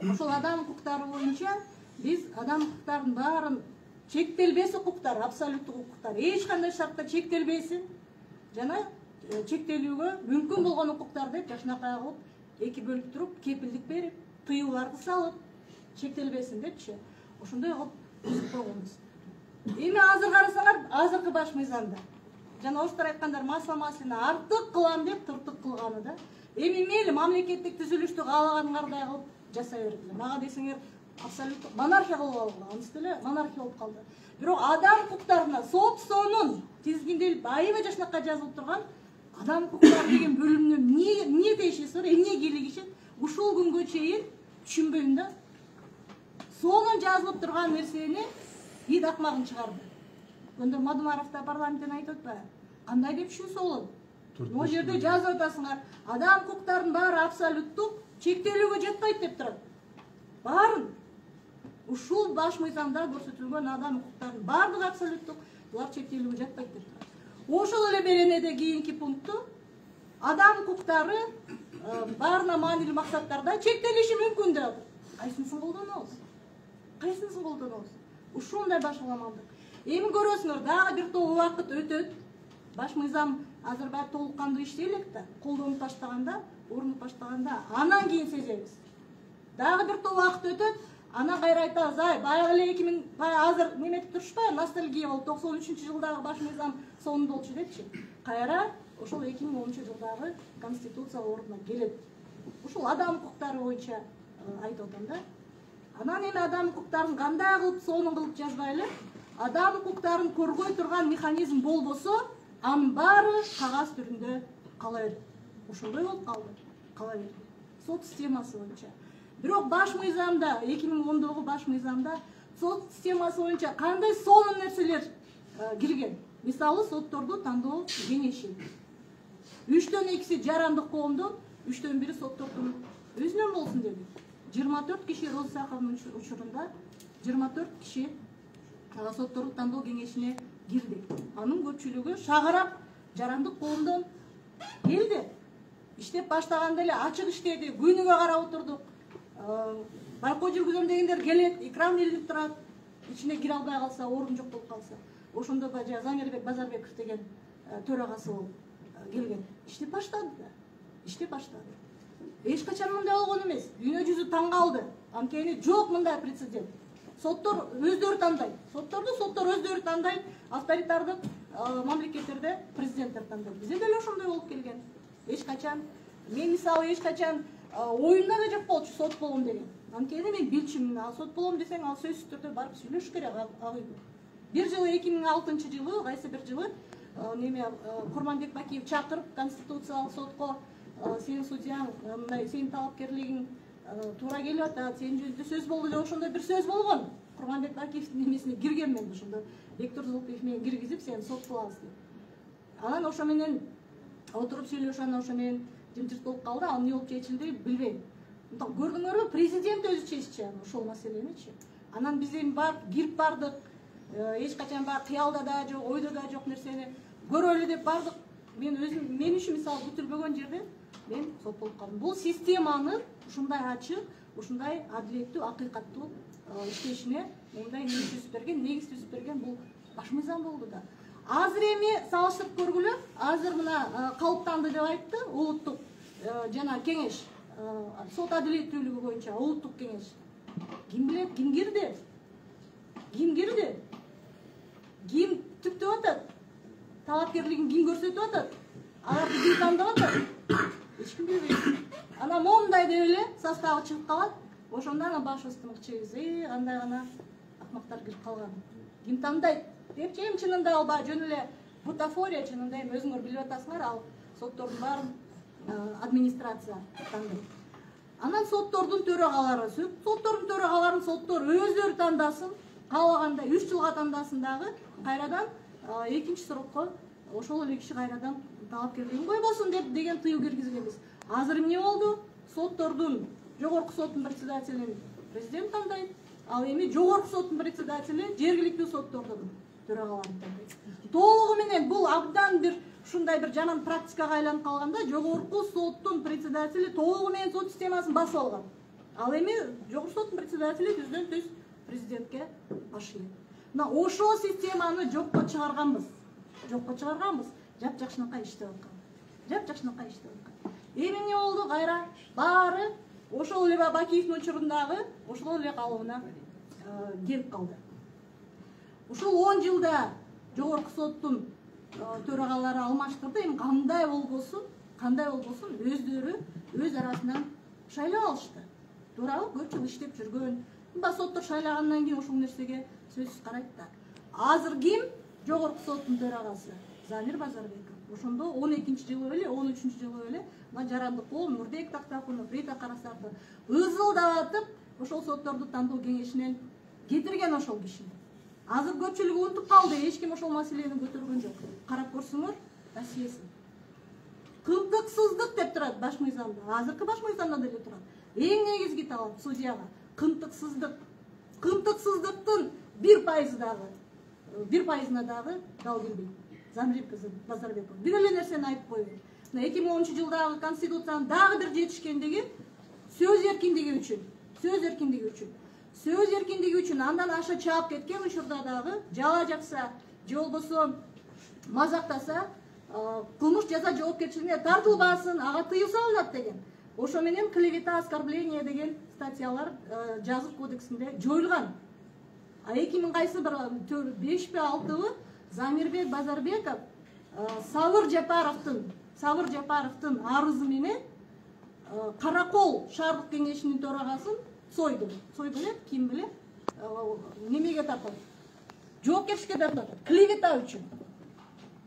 ошол адам укуктары боюнча биз адам укуктарынын баарын чектелбес укуктар, абсолюттук укуктар эч кандай шартта чектелбесин жана чектелүүгө мүмкүн болгон укуктар деп жакшынакай кылып эки бөлүп туруп, кепилдик берип, тыюуларды салып, чектелбесин депчи. Ошондой кылып түзүп койгонбуз. Эми азыр карасаңар, азыркы баш мыйзамда жана оштор айткандар масла-маслина артык кылам деп тыртык кылганы да. Эми мейли мамлекеттик түзүлүштү каалаганыңардай кылып жасай бергиле. Мага десеңер абсолюттук монархия кылып алгыла, анысы деле монархия болуп калды. Бирок адам укуктарына собственун тизгинделип, аябай жакшынакай жазылып турган адам укуктары деген бөлүмүнө эмне тиешеси бар, эмне кийлигишет, ушул күнгө чейин түшүнбөйм да. Сонун жазылып турган нерсени ид акмагын чыгарды. Өндөр Мадумаров да парламенттен айтып атпайбы? Кандай деп түшүнсө болот? Могу жерде жазып атасыңар, адам укуктарынын баары абсолюттук, чектелүүгө жатпайт деп турат. Баарын ушул баш мыйзамда көрсөтүлгөн адам укуктарынын баардыгы абсолюттук, булар чектелүүгө жатпайт деп турат. Ошол эле беренеде кийинки пункту адам укуктары баарына маанилүү максаттарда чектелиши мүмкүн деп атат. Кайсынысын колдонобуз? Ушундай башаламандык. Эми көрөсүңөр, дагы бир топ убакыт өтөт. Баш мыйзам азыр баары толук кандуу иштей элек да, колдонуп баштаганда, орнуп баштаганда, анан кийин сезебиз. Дагы бир топ убакыт өтөт, анан кайра айтабыз, ай, баягы эле 2000 азыр неметип турушпайбы, ностальгия болуп 93-жылдагы баш мыйзам сонун болчу депчи. Кайра ошол 2010-жылдагы конституция ордуна келет. Ушул адам укуктары боюнча айтып атам да. Анан эми адам укуктарын кандай кылып сонун кылып жазбайлы, адам укуктарын коргой турган механизм болбосо, анын баары кагаз түрүндө кала берет. Ошондой болуп калды. Кала берет. Сот системасы боюнча. Бирок баш мыйзамда, 2010-догу баш мыйзамда сот системасы боюнча кандай сонун нерселер кирген? Мисалы, сотторду тандоо кеңеши. 3төн 2 жарандык коомдон, 3төн 1 соттордун өзүнөн болсун деди. 24 киши Роза Саховнун учурунда 24 киши соттордун тандоо кеңешине кирди. Анын көпчүлүгү шагарап жарандык коомдон келди. Иштеп баштаганда эле ачык иштеди, күнүгө карап отурдук. байкоо жүргүзөм дегендер келет, экран илинип турат, ичине кире албай калса, орун жок болуп калса, ошондо баягы Замирбек Базарбеков деген төрагасы болуп келген. Иштеп баштады да. Иштеп баштады. Эч качан мындай болгон эмес. Дүйнө жүзү таң калды. Анткени жок мындай прецедент. Соттор өздөрү тандайт. Соттор өздөрү тандайт. Авторитардык мамлекеттерде президенттер тандайт. Бизде деле ошондой болуп келген. Эч качан мен мисалы эч качан оюмда да жок болчу сот болом деген. Анткени мен билчүмүн. Сот болом десең, ал сөзсүз түрдө барып сүйлөшүш керек ал үйдө. Бир жылы 2006-жылы, кайсы бир жылы Курманбек Бакиев чакырып конституциялык сотко сенин судьяң мындай сенин талапкерлигиң туура келип атат, сенин жүзүндө сөз болду деп ошондой бир сөз болгон. Курманбек Бакиевдин немесине киргенмен ошондо Бектур Зулпиев менен киргизип сени сот кылабыз деп. Анан ошо менен отуруп сүйлөшүп, анан ошо менен жымжырт болуп калды. Ал эмне болуп чечилди билбейм. Көрдүңөрбү, президент өзү чечти ошол маселеничи. Анан биз эми барып кирип бардык. Эч качан баягы кыялда да жок, ойдо да жок нерсени көрөлү деп бардык. Мен өзүм мен үчүн мисалы күтүлбөгөн жерде мен сот болуп калдым. Бул системанын ушундай ачык, ушундай адилеттүү, акыйкаттуу иштешине мындай негиз түзүп берген бул баш мыйзам болду да. Азыр эми салыштырып көргүлө, азыр мына калыптанды деп айтты улуттук жана кеңеш, сот адилеттүүлүгү боюнча улуттук кеңеш. Ким билет, ким кирди? Ким кирди? Ким түптөп атат? Талапкерлигин ким көрсөтүп атат? Аларды ким тандап атат? Эч ким билбейт. Анан момундай деп эле составы чыгып калат. Ошондо анан башыбызды мыкчайбыз. Андай гана акмактар кирип калган. Ким тандайт? Депчи эми чынында ал жөн эле бутафория, чынында эми өзүңөр билип атасыңар, ал соттордун баарын администрация тандайт. Анан соттордун төрагалары, соттор өздөрү тандасын, каалагандай 3 жылга тандасын дагы, кайрадан экинчи срокко ошол эле киши кайрадан талапкерлигин койбосун деп деген тыюу киргизгенбиз. Азыр эмне болду? Соттордун жогорку соттун председателин президент тандайт, ал эми жогорку соттун председатели жергиликтүү соттордун төрагаларын тандайт. Толугу менен бул абдан бир ушундай бир жаман практикага айланып калганда, жогорку соттун председатели толугу менен сот системасын басып алган. Ал эми жогорку соттун председатели түздөн түз президентке баш ийет. Мына ошол системаны жокко чыгарганбыз. Жапжакшынакай иштеп аткан. Эми эмне болду? Кайра баары ошол эле Бакиевдин учурундагы ошол эле калыбына келип калды. Ушул 10 жылда жогорку соттун төрагалары алмаштырды. Эми кандай болбосун өздөрү өз арасынан шайлап алышты. Туурабы? Көп жыл иштеп жүргөн. Соттор шайлагандан кийин ушул нерсеге сөзсүз карайт да. Азыр ким? Жогорку соттун төрагасы Замир Базарбеков. Ошондо 12-жылы беле, 13-жылы беле мына жарандык кол Нурбек Тактакунов, Рита Карасартов ызылдатып ошол сотторду тандоо кеңешинен кетирген ошол кишини. Азыр көпчүлүгү унутуп калды, эч ким ошол маселени көтөргөн жок. Карап көрсөңөр, досьеси. Кымтыксыздык деп турат баш мыйзамда. Азыркы баш мыйзамда деле турат. Эң негизги талап судьяга кымтыксыздык. Кымтыксыздыктын 1%-на дагы дал келбейт. Замир Базарбеков бир эле нерсени айтып койду. 2010-жылдагы конституциянын дагы бир жетишкендиги сөз эркиндиги үчүн. Андан аша чаап кеткен учурда дагы жала жакса, же болбосо мазактаса, кылмыш жаза жоопкерчилигине тартылбасын, ага тыюу салынат деген. Ошо менен клевета, оскорбление деген статьялар жазык кодексинде жоюлган. А 2000 кайсы бир 5-6 Замирбек Базарбеков Сабыр Жапаровдун арызы менен Каракол шаардык кеңешинин төрагасын сойду. Эле ким билет? Немеге тартат? Жоопкерчиликке тартат. Клевета үчүн.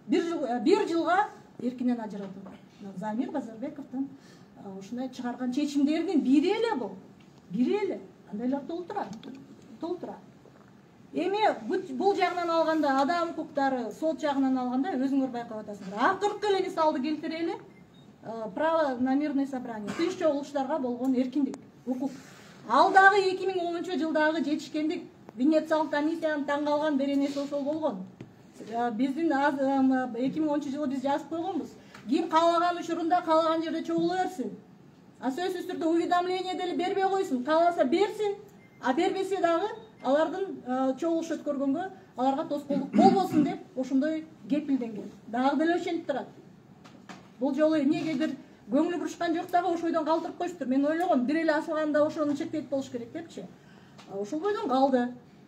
Бир жылга эркинен ажыратылды. Замир Базарбековдун ушундай чыгарган чечимдеринин бири эле бул. Андай эле толтура. Эми бул жагынан алганда, адам укуктары, сот жагынан алганда өзүңөр байкап атасыңар. Акыркы эле мисалды келтирели. Право на мирное собрание. Тыш чогулуштарга болгон эркиндик, укук. Ал дагы 2010-жылдагы жетишкендик Венециялык комиссиянын таң калган беренеси ошол болгон. Биздин 2010-жылы биз жазып койгонбуз. Ким каалаган учурунда каалаган жерде чогула берсин. сөзсүз түрдө уведомление деле бербей койсун, кааласа берсин, а бербесе дагы алардын чогулуш өткөргөнгө аларга тоскоолдук болбосун деп ошондой кепилденген. Дагы деле ошентип турат. Бул жолу эмнегедир көңүлү бурушкан жок дагы ошол бойдон калтырып коюштур. Мен ойлогом бир эле асылганда ошону чектейт болуш керек депчи. Ошол бойдон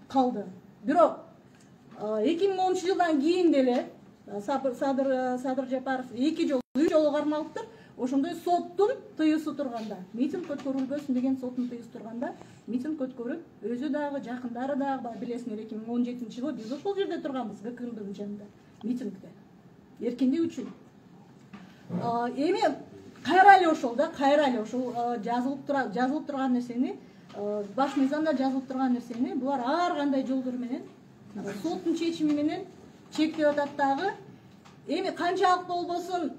калды. Бирок 2010-жылдан кийин деле Садыр Жапаров 2 жолу 3 жолу кармалыптыр. Ошондой соттун тыюусу турганда, митинг өткөрүлбөсүн деген соттун тыюусу турганда, митинг өткөрүп, өзү дагы, жакындары дагы, билесиңер, 2017-жылы биз ошол жерде турганбыз, ГКМБдын жанында, митингде. Эркиндик үчүн. Эми кайра эле ошол жазылып турган нерсени, баш мыйзамда жазылып турган нерсени булар ар кандай жолдор менен, соттун чечими менен чектеп атат дагы. Эми канчалык болбосун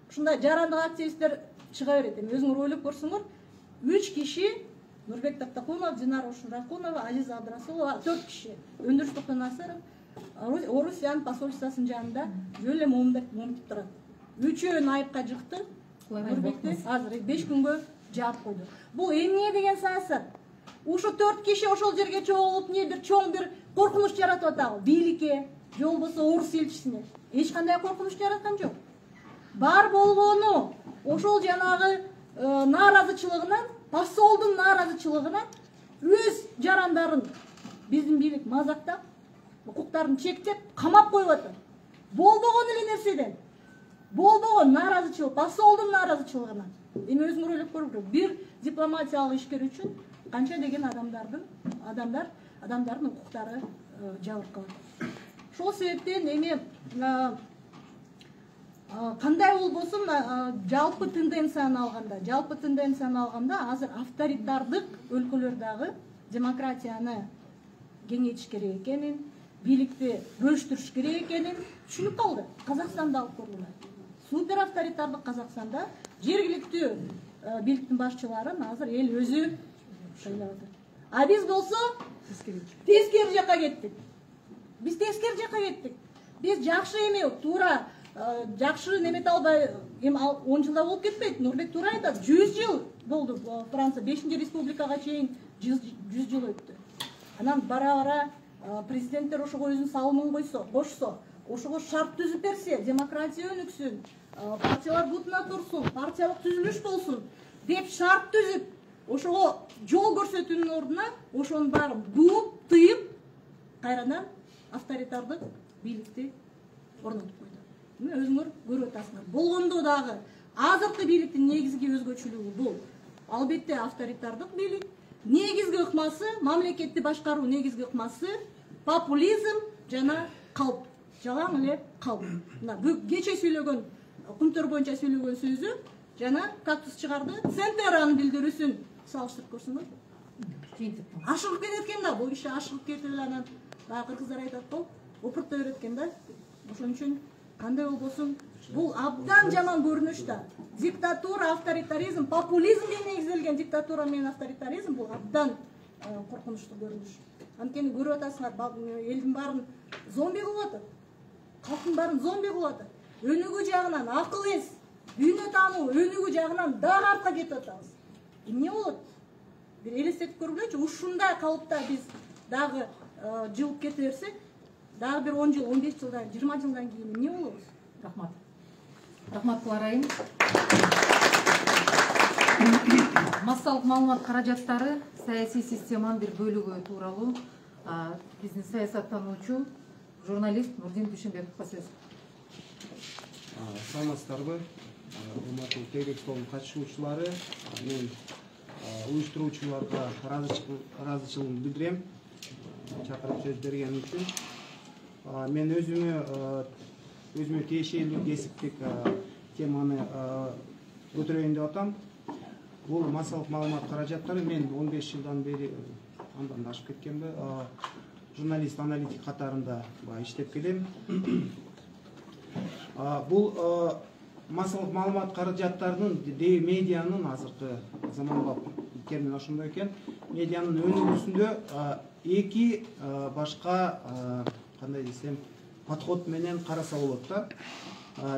ушундай жарандык активисттер чыга берет. Эми өзүңөр ойлоп көрсөңөр, 3 киши, Нурбек Тактакунов, Динара Ушуракунова, Азиза Абдрасулова, 4 киши, Өндүрүш Токтонасыров, Орусиян посольствосунун жанында жөн эле момунтип турат. Үчөөнү айыпка жыкты. Нурбекти азыр 5 күнгө жаап койду. Бул эмне деген саясат? Ушу 4 киши ошол жерге чогулуп, чоң бир коркунуч жаратып атабы? Бийликке, же болбосо орус элчисине эч кандай коркунуч жараткан жок. Бар болгону ошол жанагы нааразычылыгынан, посолдун нааразычылыгынан өз жарандарын биздин бийлик мазактап, укуктарын чектеп, камап коюп атат. Болбогон эле нерседен. Болбогон нааразычылык, посолдун нааразычылыгынан. Эми өзүңөр ойлоп көрүп көрүңүздөр. Бир дипломатиялык ишкер үчүн канча деген адамдардын укуктары жабыркалат. Ошол себептен эми кандай болбосун жалпы тенденцияны алганда азыр авторитардык өлкөлөр дагы демократияны кеңейтиш керек экенин, бийликти бөлүштүрүш керек экенин түшүнүп калды. Казакстанда алып көргүлө. Супер авторитардык Казакстанда жергиликтүү бийликтин башчыларын азыр эл өзү шайлап атат. А биз болсо тескери жака кеттик. Биз жакшы эми туура жакшы немете албай, эми 10 жылда болуп кетпейт. Нурбек туура айтат. 100 жыл болду Франция 5-чи республикага чейин 100 жыл өттү. Анан бара-бара президенттер ошого өзүнүн салымын кошсо, ошого шарт түзүп берсе, демократия өнүксүн, партиялар бутуна турсун, партиялык түзүлүш болсун деп шарт түзүп, ошого жол көрсөтүүнүн ордуна ошонун баарын бууп, тыйып, кайрадан авторитардык бийликти орнотуп койду. Мына өзүңөр көрүп атасыңар. Болгондо дагы азыркы бийликтин негизги өзгөчөлүгү бул. Албетте авторитардык бийлик, негизги ыкмасы, мамлекетти башкаруу негизги ыкмасы популизм жана калп. Жалаң эле калп. Мына кече сүйлөгөн, Кумтөр боюнча сүйлөгөн сөзү жана кактус чыгарды. Центеранын билдирүүсүн салыштырып көрсөңөр. Ашыгып кетет экен да, бул киши ашыгып кетип эле анан дагы кыргыздар айтат го, опурта берет экен да. Ошон үчүн кандай болбосун, бул абдан жаман көрүнүш да. Диктатура, авторитаризм, популизмге негизделген диктатура менен авторитаризм бул абдан коркунучтуу көрүнүш. Анткени көрүп атасыңар, элдин баарын зомби кылып атат. Калктын баарын зомби кылып атат. Өнүгүү жагынан акыл эс, дүйнө таануу өнүгүү жагынан дагы артка кетип атабыз. Эмне болот? Бир элестетип көргүлөчү, ушундай калыпта биз дагы жылып кете берсек, дагы бир 10 жыл, 15 жылдан, 20 жылдан кийин эмне болобуз? Рахмат. Рахмат Кларайым. Массалык маалымат каражаттары саясий системанын бир бөлүгү тууралуу биздин саясаттануучу журналист Нурдин Дүйшөнбековго сөз. Саламатсыздарбы? Урматтуу телеэкспонун катышуучулары, мен уюштуруучуларга ыраазычылыгымды билдирем. Чакырып сөз берген үчүн. Мен өзүмө тиешелүү кесиптик теманы көтөрөйүн деп атам. Бул массалык маалымат каражаттары, мен 15 жылдан бери, андан да ашып кеткенби, журналист, аналитик катарында иштеп келем. Бул массалык маалымат каражаттарынын медианын азыркы заманга термин ошондой экен. Медианын өнүгүүсүндө эки башка кандай десем подход менен караса болот да.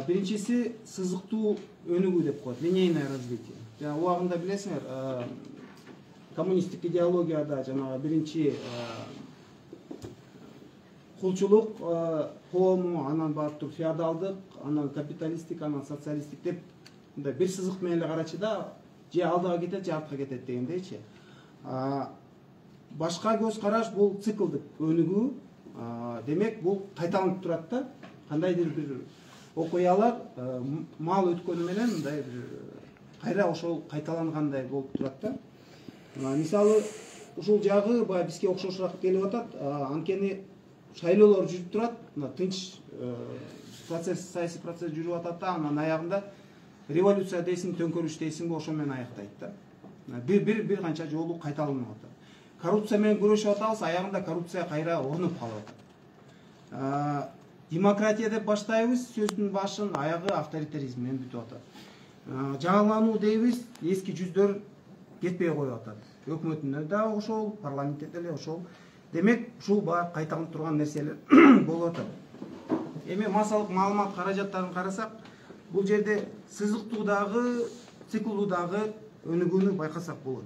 Биринчиси сызыктуу өнүгүү деп коет, линейное развитие. жана убагында билесиңер, коммунисттик идеологияда жанагы биринчи кулчулук коому, анан барып туруп феодалдык, анан капиталисттик, анан социалисттик деп мындай бир сызык менен эле карачы да, же алдыга кетет, же артка кетет дегендейчи. Башка көз караш бул циклдык өнүгүү. Демек бул кайталанып турат да. Кандайдыр бир окуялар мал өткөнү менен мындай бир кайра ошол кайталангандай болуп турат да. Мисалы ушул жагы баягы бизге окшошураак келип атат. Анткени шайлоолор жүрүп турат, тынч процесс, саясий процесс жүрүп атат да, анан аягында революция дейсиң, төңкөрүш дейсиңби, ошо менен аяктайт да. Бир канча жолу кайталанып атат. Коррупция менен күрөшүп атабыз, аягында коррупция кайра орнуп калып атат. Демократия деп баштайбыз, сөздүн башын, аягы авторитаризм менен бүтүп атат. Жаңылануу дейбиз, эски жүздөр кетпей коюп атат. Өкмөтүндө да ошол, парламентте деле ошол. Демек, ушул баары кайталанып турган нерселер болуп атат. Эми массалык маалымат каражаттарын карасак, бул жерде сызыктуудагы, циклдуудагы өнүгүүнү байкасак болот.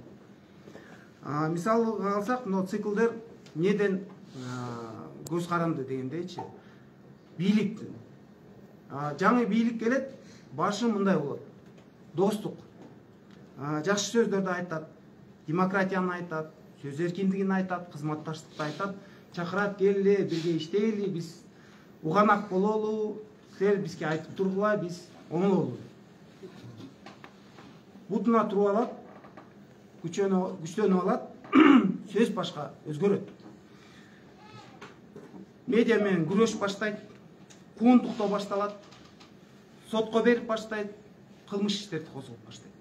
Мисалы алсак, мына циклдер неден көз каранды дегендейчи. Бийликтин. Жаңы бийлик келет, башы мындай болот. Достук. Жакшы сөздөрдү айтат, демократияны айтат, сөз эркиндигин айтат, кызматташтыкты айтат, чакырат, келели, бирге иштейли, биз уганак бололу, силер бизге айтып тургула, биз оңололу. Бутуна туруп алат, күчтөнүп алат, сөз башка өзгөрөт. Медиа менен күрөш баштайт, куугунтуктоо башталат, сотко берип баштайт, кылмыш иштерди козгоп баштайт.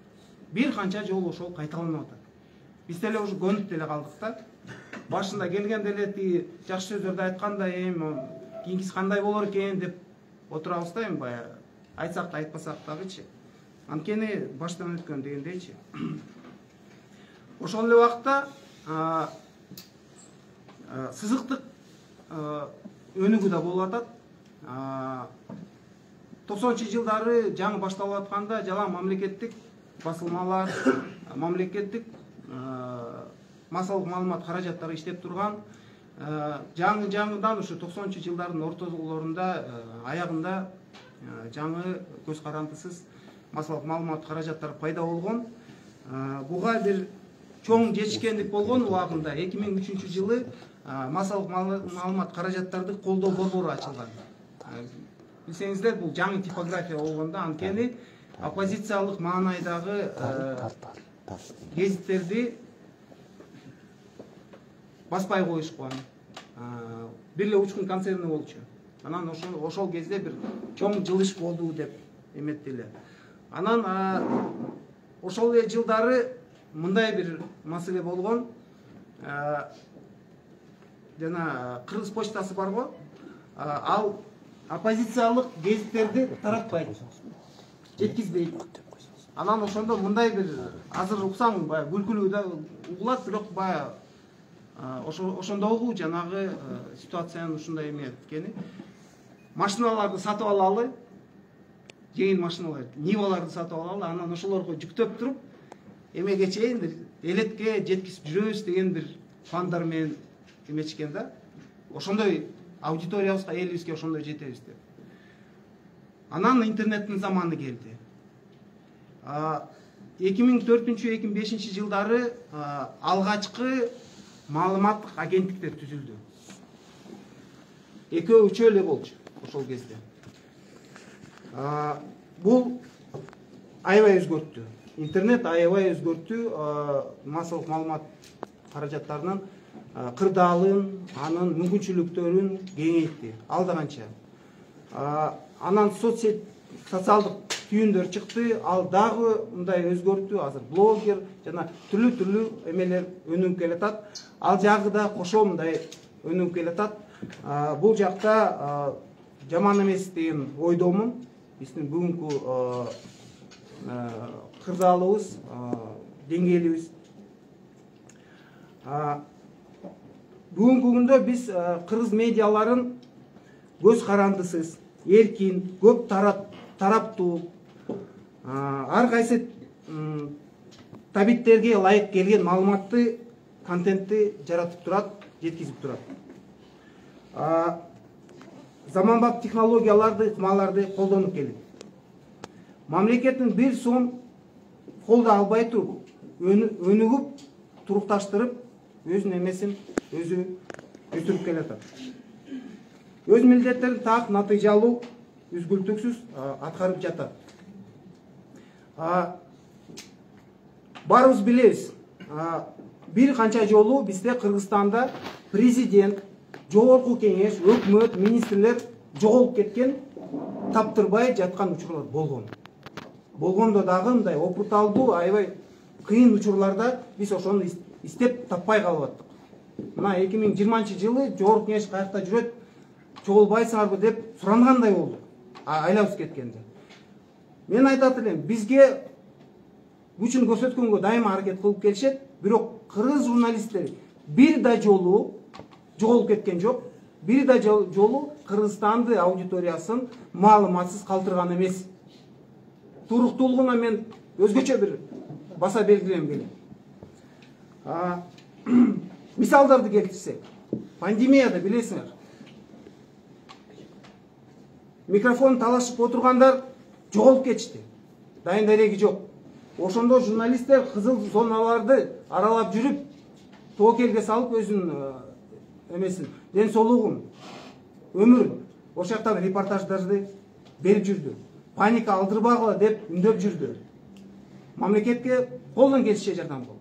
Бир канча жолу ошол кайталанып атат. Биз деле уже көнүп деле калдык да. Башында келгенде эле тиги жакшы сөздөрдү айтканда, эми кийинкиси кандай болор экен деп отурабыз да, эми баягы айтсак да айтпасак дагычы. Анткени баштан өткөн дегендейчи. Ошол эле убакта сызыктык өнүгүү да болуп атат. 90-жылдары жаңы башталып атканда жалаң мамлекеттик басылмалар, мамлекеттик массалык маалымат каражаттары иштеп турган, жаңыдан ушу 90-жылдардын ортолорунда аягында жаңы көз карандысыз массалык маалымат каражаттары пайда болгон. Буга бир чоң жетишкендик болгон убагында 2003-жылы массалык маалымат каражаттарды колдоо борбору ачылган. Билсеңиздер, бул жаңы типография болгондо, анткени оппозициялык маанайдагы гезиттерди баспай коюшкан. Бир эле Учкун концерни болчу. Анан ошол кезде бир чоң жылыш болду деп эметти. Анан ошол эле жылдары мындай бир маселе болгон. Жана Кыргыз почтасы бар го. Ал оппозициялык гезиттерди таратпайт, жеткизбейт. Анан ошондо мындай бир азыр уксаң баягы күлкүлүү да угулат, бирок баягы ошондогу жанагы ситуациянын ушундай эме эткени. Машиналарды сатып алалы, жеңил машиналар, Ниваларды сатып алалы, анан ошолорго жүктөп туруп, эмеге чейин бир элетке жеткизип жүрөбүз деген бир пландар менен эмечкен да. Ошондой аудиториябызга, элибизге ошондой жетебиз деп. Анан интернеттин заманы келди. 2004-2005 жылдары алгачкы маалыматтык агенттиктер түзүлдү. Экөө-үчөө эле болчу ошол кезде. Бул аябай өзгөрттү. Интернет аябай өзгөрттү массалык маалымат каражаттарынын кырдаалын, анын мүмкүнчүлүктөрүн кеңейтти. Ал да канча. Анан социалдык түйүндөр чыкты, ал дагы мындай өзгөрттү. Азыр блогер жана түрлүү эмелер өнүгүп келатат. Ал жагы да кошо мындай өнүгүп келатат. Бул жакта жаман эмес деген ойдомун. Биздин бүгүнкү кырдаалыбыз, деңгээлибиз. Бүгүнкү күндө биз кыргыз медиаларын көз карандысыз, эркин, көп тараптуу, ар кайсы табиттерге ылайык келген маалыматты, контентти жаратып турат, жеткизип турат. Заманбап технологияларды, ыкмаларды колдонуп келет. Мамлекеттин бир сом колдо албай туруп, өнүгүп, турукташтырып, өзүнүн эмесин өзү өстүрүп келатат. Өз милдеттерин так, натыйжалуу, үзгүлтүксүз аткарып жатат. Баарыбыз билебиз, бир канча жолу бизде Кыргызстанда президент, жогорку кеңеш, өкмөт, министрлер жоголуп кеткен, таптырбай жаткан учурлар болгон. Болгондо дагы мындай опурталдуу, аябай кыйын учурларда биз ошону издеп таппай калып аттык. Мына 2020-жылы жогорку кеңеш каякта жүрөт, жоголбайсыңарбы деп сурангандай болду. Айлабыз кеткенде. Мен айтат элем, бизге күчүн көрсөткөнгө дайыма аракет кылып келишет, бирок кыргыз журналисттери бир да жолу жоголуп кеткен жок. Бир да жолу Кыргызстанды аудиториясын маалыматсыз калтырган эмес. Туруктуулугуна мен өзгөчө бир баса белгилем келем. Мисалдарды келтирсек, пандемияда билесиңер, микрофон талашып отургандар жоголуп кетишти. Дайын дареги жок. Ошондо журналисттер кызыл зоналарды аралап жүрүп, тоокелге салып өзүнүн эмесин, ден соолугун, өмүрүн ошол жактан репортаждарды берип жүрдү. Паника алдырбагыла деп үндөп жүрдү. Мамлекетке колдон келишче жардам кылды.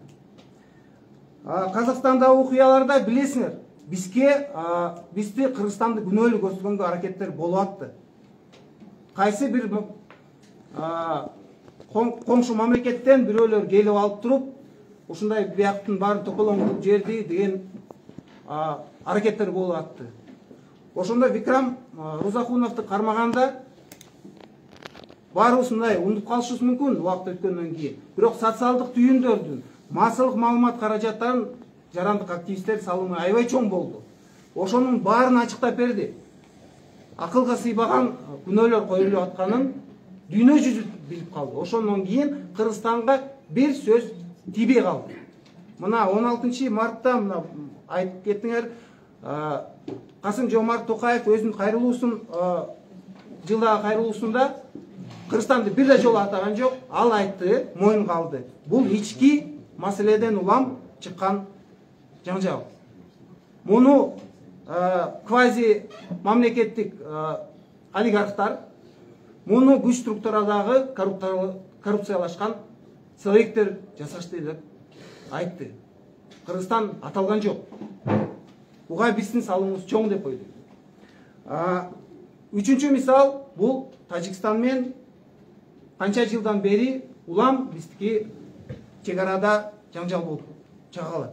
Казакстандагы окуяларда билесиңер, бизди Кыргызстанды күнөөлүү көрсөткөнгө аракеттер болуп атты. Кайсы бир коңшу мамлекеттен бирөөлөр келип алып туруп, ушундай бияктын баарын токолоңдуп жерди деген аракеттер болуп атты. Ошондо Викрам Рузахуновду кармаганда баарыбыз мындай унутуп калышыбыз мүмкүн убакыт өткөндөн кийин. Бирок социалдык түйүндөрдүн, массалык маалымат каражаттарын жарандык активисттер салымы аябай чоң болду. Ошонун баарын ачыктап берди. Акылга сыйбаган күнөөлөр коюлуп атканын дүйнө жүзү билип калды. Ошондон кийин Кыргызстанга бир сөз тийбей калды. Мына 16 мартта мына айтып кеттиңер, Касым-Жомарт Токаев өзүнүн кайрылуусун, жылдагы кайрылуусунда Кыргызстанды бир да жолу атаган жок. Ал айтты, моюнга алды. Бул ички маселеден улам чыккан жаңжал. Муну квази мамлекеттик олигархтар, муну күч структурадагы коррупциялашкан субъекттер жасашты деп айтты. Кыргызстан аталган жок. Буга биздин салымыбыз чоң деп ойлойм. Үчүнчү мисал бул Тажикстан менен канча жылдан бери улам биздики чек арада жаңжал болуп чыга калат.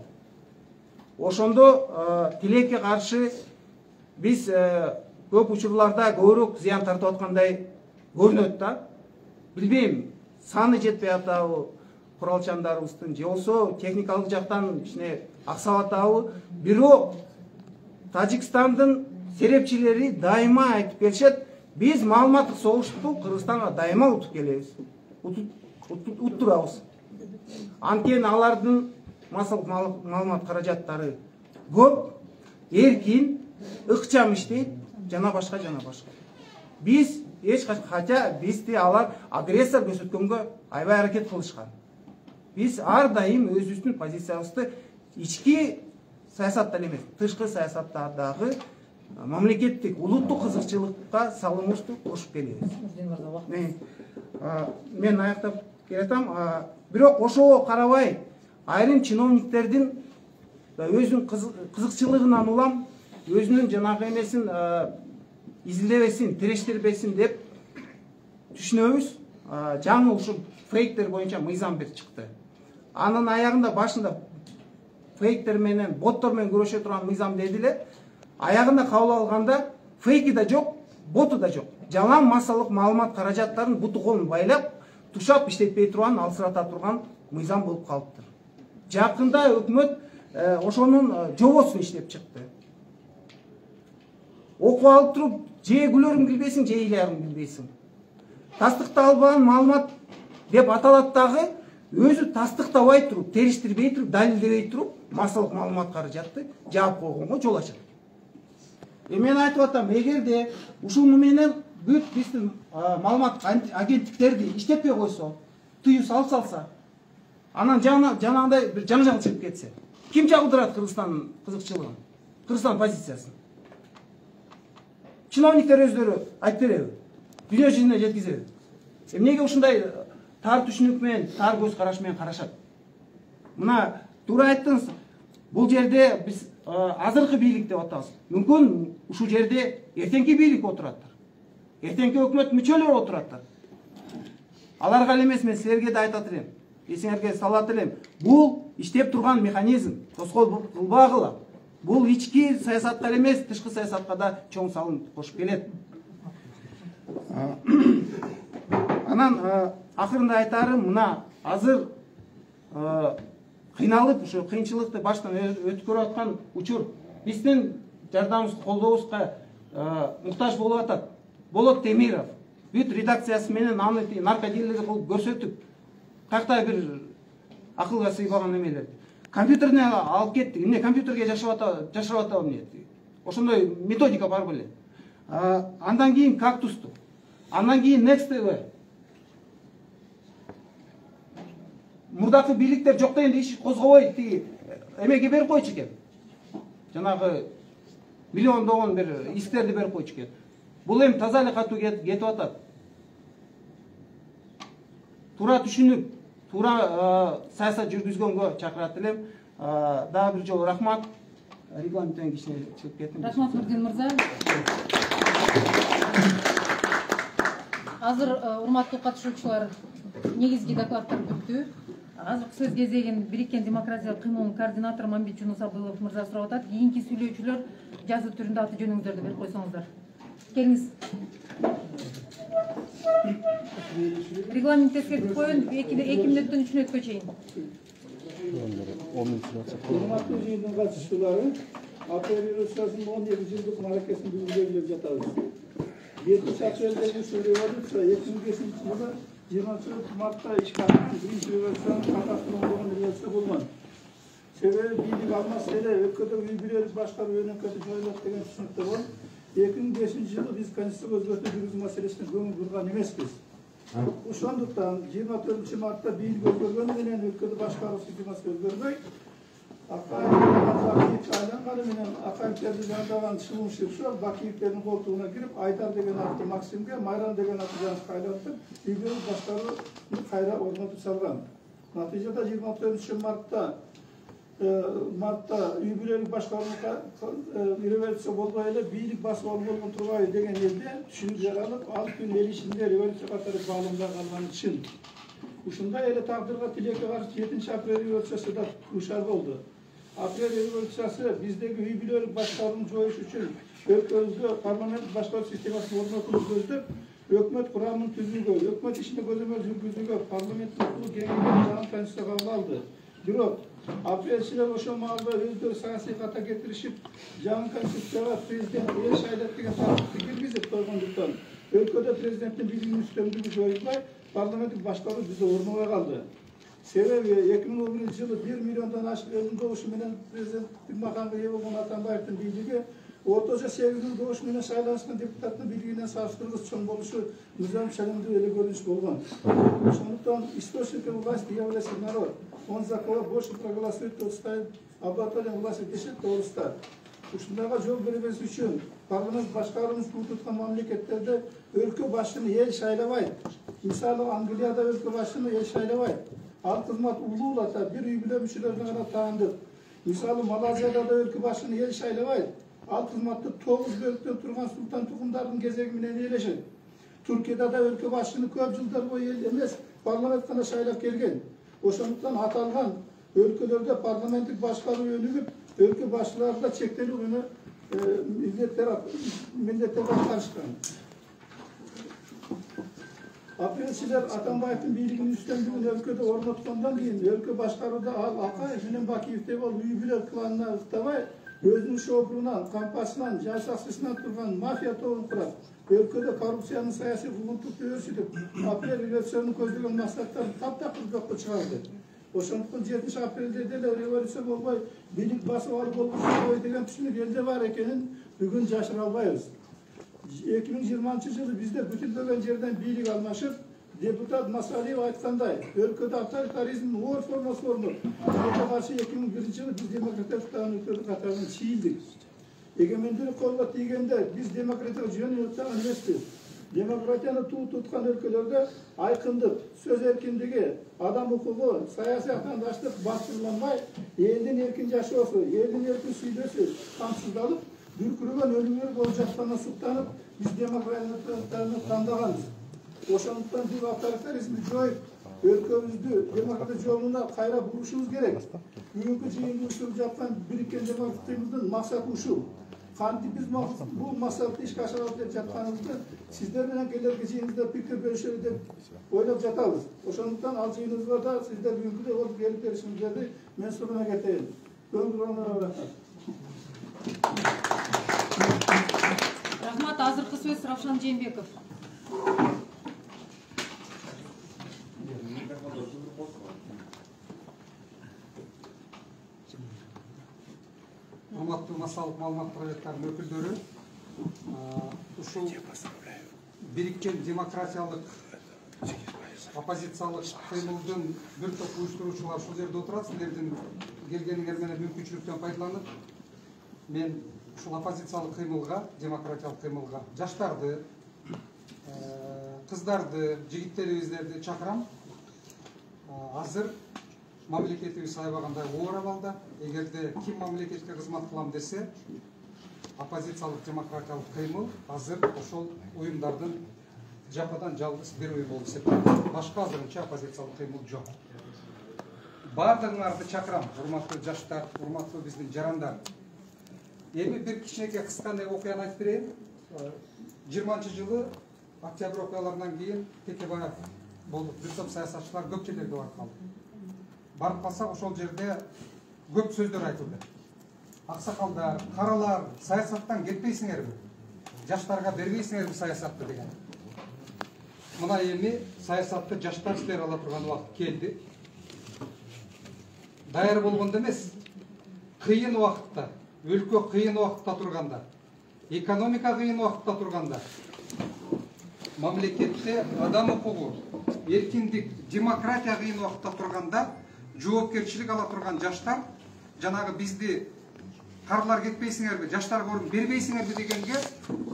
Ошондо тилекке каршы биз көп учурларда көбүрөөк зыян тартып аткандай көрүнөт да. Билбейм, саны жетпей атабы куралчандарыбыздын, же болбосо техникалык жактан кичине аксап атабы. Бирок Тажикстандын серепчилери дайыма айтып келишет, биз маалыматтык согушту Кыргызстанга дайыма утуп келебиз. Уттурабыз. Анткени алардын массалык маалымат каражаттары көп, эркин, ыкчам иштейт, жана башка. Биз эч качан, хотя бизди алар агрессор көрсөткөнгө аябай аракет кылышкан. Биз ар дайым өзүбүздүн позициябызды ички саясатта эмес, тышкы саясатта дагы мамлекеттик, улуттук кызыкчылыкка салымыбызды кошуп келебиз. Мен аяктап келатам. Бирок ошого карабай, айрым чиновниктердин өзүнүн кызыкчылыгынан улам өзүнүн жанагы эмесин изилдебесин, тирештирбесин деп түшүнөбүз. Жаңы ушул фейктер боюнча мыйзам бир чыкты. Анын аягында башында фейктер менен, боттор менен күрөшө турган мыйзам дедиле. Аягында кабыл алганда фейки да жок, боту да жок. Жалаң массалык маалымат каражаттарын буту колун байлап, тушап иштетпей турган, алсырата турган мыйзам болуп калыптыр. Жакында өкмөт ошонун жобосун иштеп чыкты. Окуп алып туруп, же күлөрүң билбейсиң, же ыйларың билбейсиң. Тастыкталбаган маалымат деп аталат дагы, өзү тастыктабай туруп, териштирбей туруп, далилдебей туруп, массалык маалымат каражатты жаап койгонго жол ачат. Мен айтып атам, эгерде ушуну менен бүт биздин маалымат агенттиктерди иштетпей койсо, тыюу салса, анан жанагындай бир жаңжал чыгып кетсе, ким чагылдырат Кыргызстандын кызыкчылыгын, Кыргызстан позициясын? Чиновниктер өздөрү айтып береби? Дүйнө жүзүнө жеткизеби? Эмнеге ушундай тар түшүнүк менен, тар көз караш менен карашат? Мына туура айттыңыз. Бул жерде биз азыркы бийлик деп атабыз. Мүмкүн ушул жерде эртеңки бийлик отураттыр. Эртеңки өкмөт мүчөлөрү отураттыр. Аларга эле эмес, мен силерге да айтат элем. Эсиңерге салат элем. Бул иштеп турган механизм. Тоскоол кылбагыла. Бул ички саясатка эле эмес, тышкы саясатка да чоң салым кошуп келет. Анан акырында айтарым, мына азыр кыйналып, ушу кыйынчылыкты баштан өткөрүп аткан учур биздин жардамыбыз, колдообузга муктаж болуп атат. Болот Темиров бүт редакциясы менен аны наркодилер кылып көрсөтүп, кайта бир акылга сыйбаган эмелерди. Компьютерине алып кеттик. Эмне компьютерге жашырып атабы эмне? Ошондой методика бар беле. Андан кийин Кактусту. Андан кийин Next TV. Мурдакы бийликтер жок дегенде иш козгобой тиги эмеге берип койчу экен. Жанагы миллиондогон бир исктерди берип койчу экен. Бул эми таза эле катуу кетип атат. Туура түшүнүп, туура саясат жүргүзгөнгө чакырат элем. Дагы бир жолу рахмат. Регламенттен кичине чыгып кеттим. Рахмат Нурдин мырза. Азыр урматтуу катышуучулар, негизги докладдар бүттү. Азыркы сөз кезегин Бириккен демократиялык кыймылдын координатору Мамбет Жунусабылов мырза сурап атат. Кийинки сүйлөөчүлөр жазуу түрүндө аты жөнүңүздөрдү берип койсоңуздар. Келиңиз. Регламент эскертип коюн, 2 мүнөттөн 3 мүнөткө чейин. Урматтуу жыйындын катышуучулары, апрель революциясынын 12 жылдык мааракесин бүгүн жатабыз. 7 апрелдеги ушул революция 2005 жылы 20 мартта ишке ашкан биринчи революциянын каташтуу болгон революция болгон. Себеби бийлик алмаса эле өлкөдөгү үй бүлөлүк башкаруу өнөкөтү жоюлат деген түшүнүктөр бар. 2005 жылы биз конституцияга өзгөртүү жүргүзүү маселесине көңүл бурган эмеспиз. Ошондуктан 24 мартта бийлик өзгөргөнү менен өлкөдө башкаруу системасы өзгөрбөй, айланганы менен Акаевтерди жандаган Шылым Шыршов Бакиевтердин колтугуна кирип, Айдар деген аты Максимге, Майрам деген аты Жанышка айлантып, үй бүлөлүк башкарууну кайра орнотуп салган. Натыйжада 24 мартта үй бүлөлүк башкарууга революция болбой эле бийлик басып алуу болгон турбайбы деген элде түшүнүк жаралып, ал күн эл ичинде революция катары баалымда калганы чын. Ушундай эле тагдырга тилекке каршы 7 апрель революциясы да кушар болду. Апрель революциясы биздеги үй бүлөлүк башкарууну жоюш үчүн өлкөбүздө парламент башкаруу системасын орнотууну көздөп, өкмөт курамын түзүүгө, өкмөт ишине көзөмөл жүргүзүүгө парламенттин укугу кеңейген жаңы конституция кабыл алды. Бирок апрельчилер ошол маалда өздөрү саясий ката кетиришип, жаңы конституцияга президент эл шайлайт деген тартипти киргизип койгондуктан өлкөдө президенттин бийлигинин үстөмдүгү жоюлбай, парламенттик башкаруу бизде орнобой калды. Себеби 2011 жылы 1 миллиондон ашык элдин добушу менен президенттик макамга ээ болгон Атамбаевдин бийлиги орточо 8 добуш менен шайланышкан депутаттын бийлигинен салыштыргыч чоң болушу мыйзам чагымдуу эле көрүнүш болгон. Ошондуктан источником власти является народ. Он за кого больше проголосует, тот станет обладателем власти дешет тоғызда. Ушундайга жол бербеш үчүн парламент башкарууну туткан мамлекеттерде өлкө башчыны эл шайлабайт. Мисалы Англияда өлкө башчыны эл шайлабайт. Ал кызмат улуулата бир үй бүлө мүчөлөрүнө гана таандык. Мисалы Малайзияда да өлкө башчыны эл шайлабайт. Ал кызматты 9 бөлүктөн турган султан тукумдардын кезеги менен ээлешет. Түркияда да өлкө башчыны көп жылдар бою эл эмес, парламент гана шайлап келген. Ошондуктан аталган өлкөлөрдө парламенттик башкаруу өнүгүп, өлкө башчыларында чектелүү менен милдеттер аткарышкан. Апрельчилер Атамбаевдин бийлигинин үстөмдүгүн өлкөдө орноткондон кийин өлкө башкарууда ал Акаев менен Бакиевдей болуп үй бүлө кланына ыктабай, өзүнүн шопурунан, кампасынан, жашакчысынан турган мафия тобун курат. Өлкөдө коррупциянын саясий куугунтукту өрчүтүп, апрель революциясынын көздөгөн максаттарын таптакыр жокко чыгарды. Ошондуктан 7 апрелде деле революция болбой, бийлик басып алып болбой деген түшүнүк элде бар экенин бүгүн жашыра албайбыз. 2020-жылы бизде бүтүлбөгөн жерден бийлик алмашып, депутат Масалиев айткандай, өлкөдө авторитаризмдин оор формасы болмок. Ага каршы 2001-жылы биз демократиялык өлкөлөр катарынан чийилдик. Эгемендүүлүк колго тийгенде биз демократияга жөн өткөн эмеспиз. Демократияны туу туткан өлкөлөрдө айкындык, сөз эркиндиги, адам укугу, саясий атаандаштык баскырланбай, элдин эркин жашоосу, элдин эркин сүйлөшү камсыздалып, дүркүрөгөн өлүмдөр болуп жатканына суктанып, биз демократияны тандаганбыз. Ошондуктан биз авторитаризмди жоюп, өлкөбүздү демократия жолуна кайра бурушубуз керек. Бүгүнкү жыйында учуруп жаткан бириккен демократиябыздын максаты ушул. Кантип биз бул максатты ишке ашырабыз деп жатканыбызды сиздер менен келерки жыйыныбызда пикир бөлүшөлү деп ойлоп жатабыз. Ошондуктан ал жыйыныбызга да сиздер бүгүнкүдөй болуп келип беришиңиздерди мен сурана кетейин. Рахмат. Азыркы сөз Равшан Жээнбеков. Урматтуу массалык маалымат проекттарынын өкүлдөрү, ушул бириккен демократиялык оппозициялык кыймылдын бир топ уюштуруучулар ушул жерде отурат. Силердин келгениңер менен мүмкүнчүлүктөн пайдаланып, мен ушул оппозициялык кыймылга, демократиялык кыймылга жаштарды, кыздарды, жигиттерибиздерди чакырам. Азыр мамлекетибиз аябагандай оор абалда. Эгерде ким мамлекетке кызмат кылам десе, оппозициялык демократиялык кыймыл азыр ошол уюмдардын жападан жалгыз бир уюм болуп эсептелет. Башка азырынча оппозициялык кыймыл жок. Баардыгыңарды чакырам, урматтуу жаштар, урматтуу биздин жарандар. Эми бир кичинекей кыска окуяны айтып берейин. 20-жылы октябрь окуяларынан кийин Текебаев болуп, бир топ саясатчылар көп жерлерге барып калды. Барып калсак ошол жерде көп сөздөр айтылды. Аксакалдар, каралар, саясаттан кетпейсиңерби? Жаштарга бербейсиңерби саясатты деген. Мына эми саясатты жаштар иштей ала турган убакыт келди. Даяр болгондо эмес, кыйын убакытта, өлкө кыйын убакытта турганда, экономика кыйын убакытта турганда, мамлекетте адам укугу, эркиндик, демократия кыйын убакытта турганда, жоопкерчилик ала турган жаштар, жанагы бизди карылар кетпейсиңерби, жаштарга орун бербейсиңерби дегенге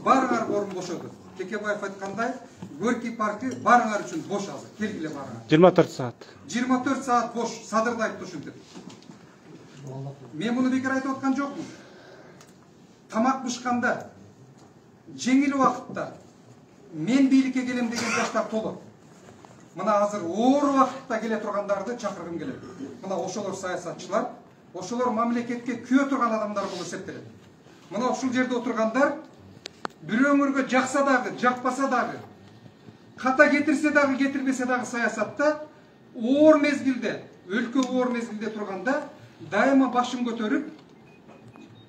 баарыңар орун бошоду. Текебаев айткандай, Горький паркы баарыңар үчүн бош азыр. Келгиле баарыңар. 24 саат. 24 саат бош, Садырды айтты ушинтип. Мен муну бекер айтып аткан жокмун. Тамак бышканда, жеңил убакытта мен бийликке келем деген жаштар толот. Мына азыр оор убакытта келе тургандарды чакыргым келет. Мына ошолор саясатчылар, ошолор мамлекетке күйө турган адамдар болуп эсептелет. Мына ушул жерде отургандар бирөөңөргө жакса дагы, жакпаса дагы, ката кетирсе дагы, кетирбесе дагы саясатта оор мезгилде, өлкө оор мезгилде турганда дайыма башын көтөрүп,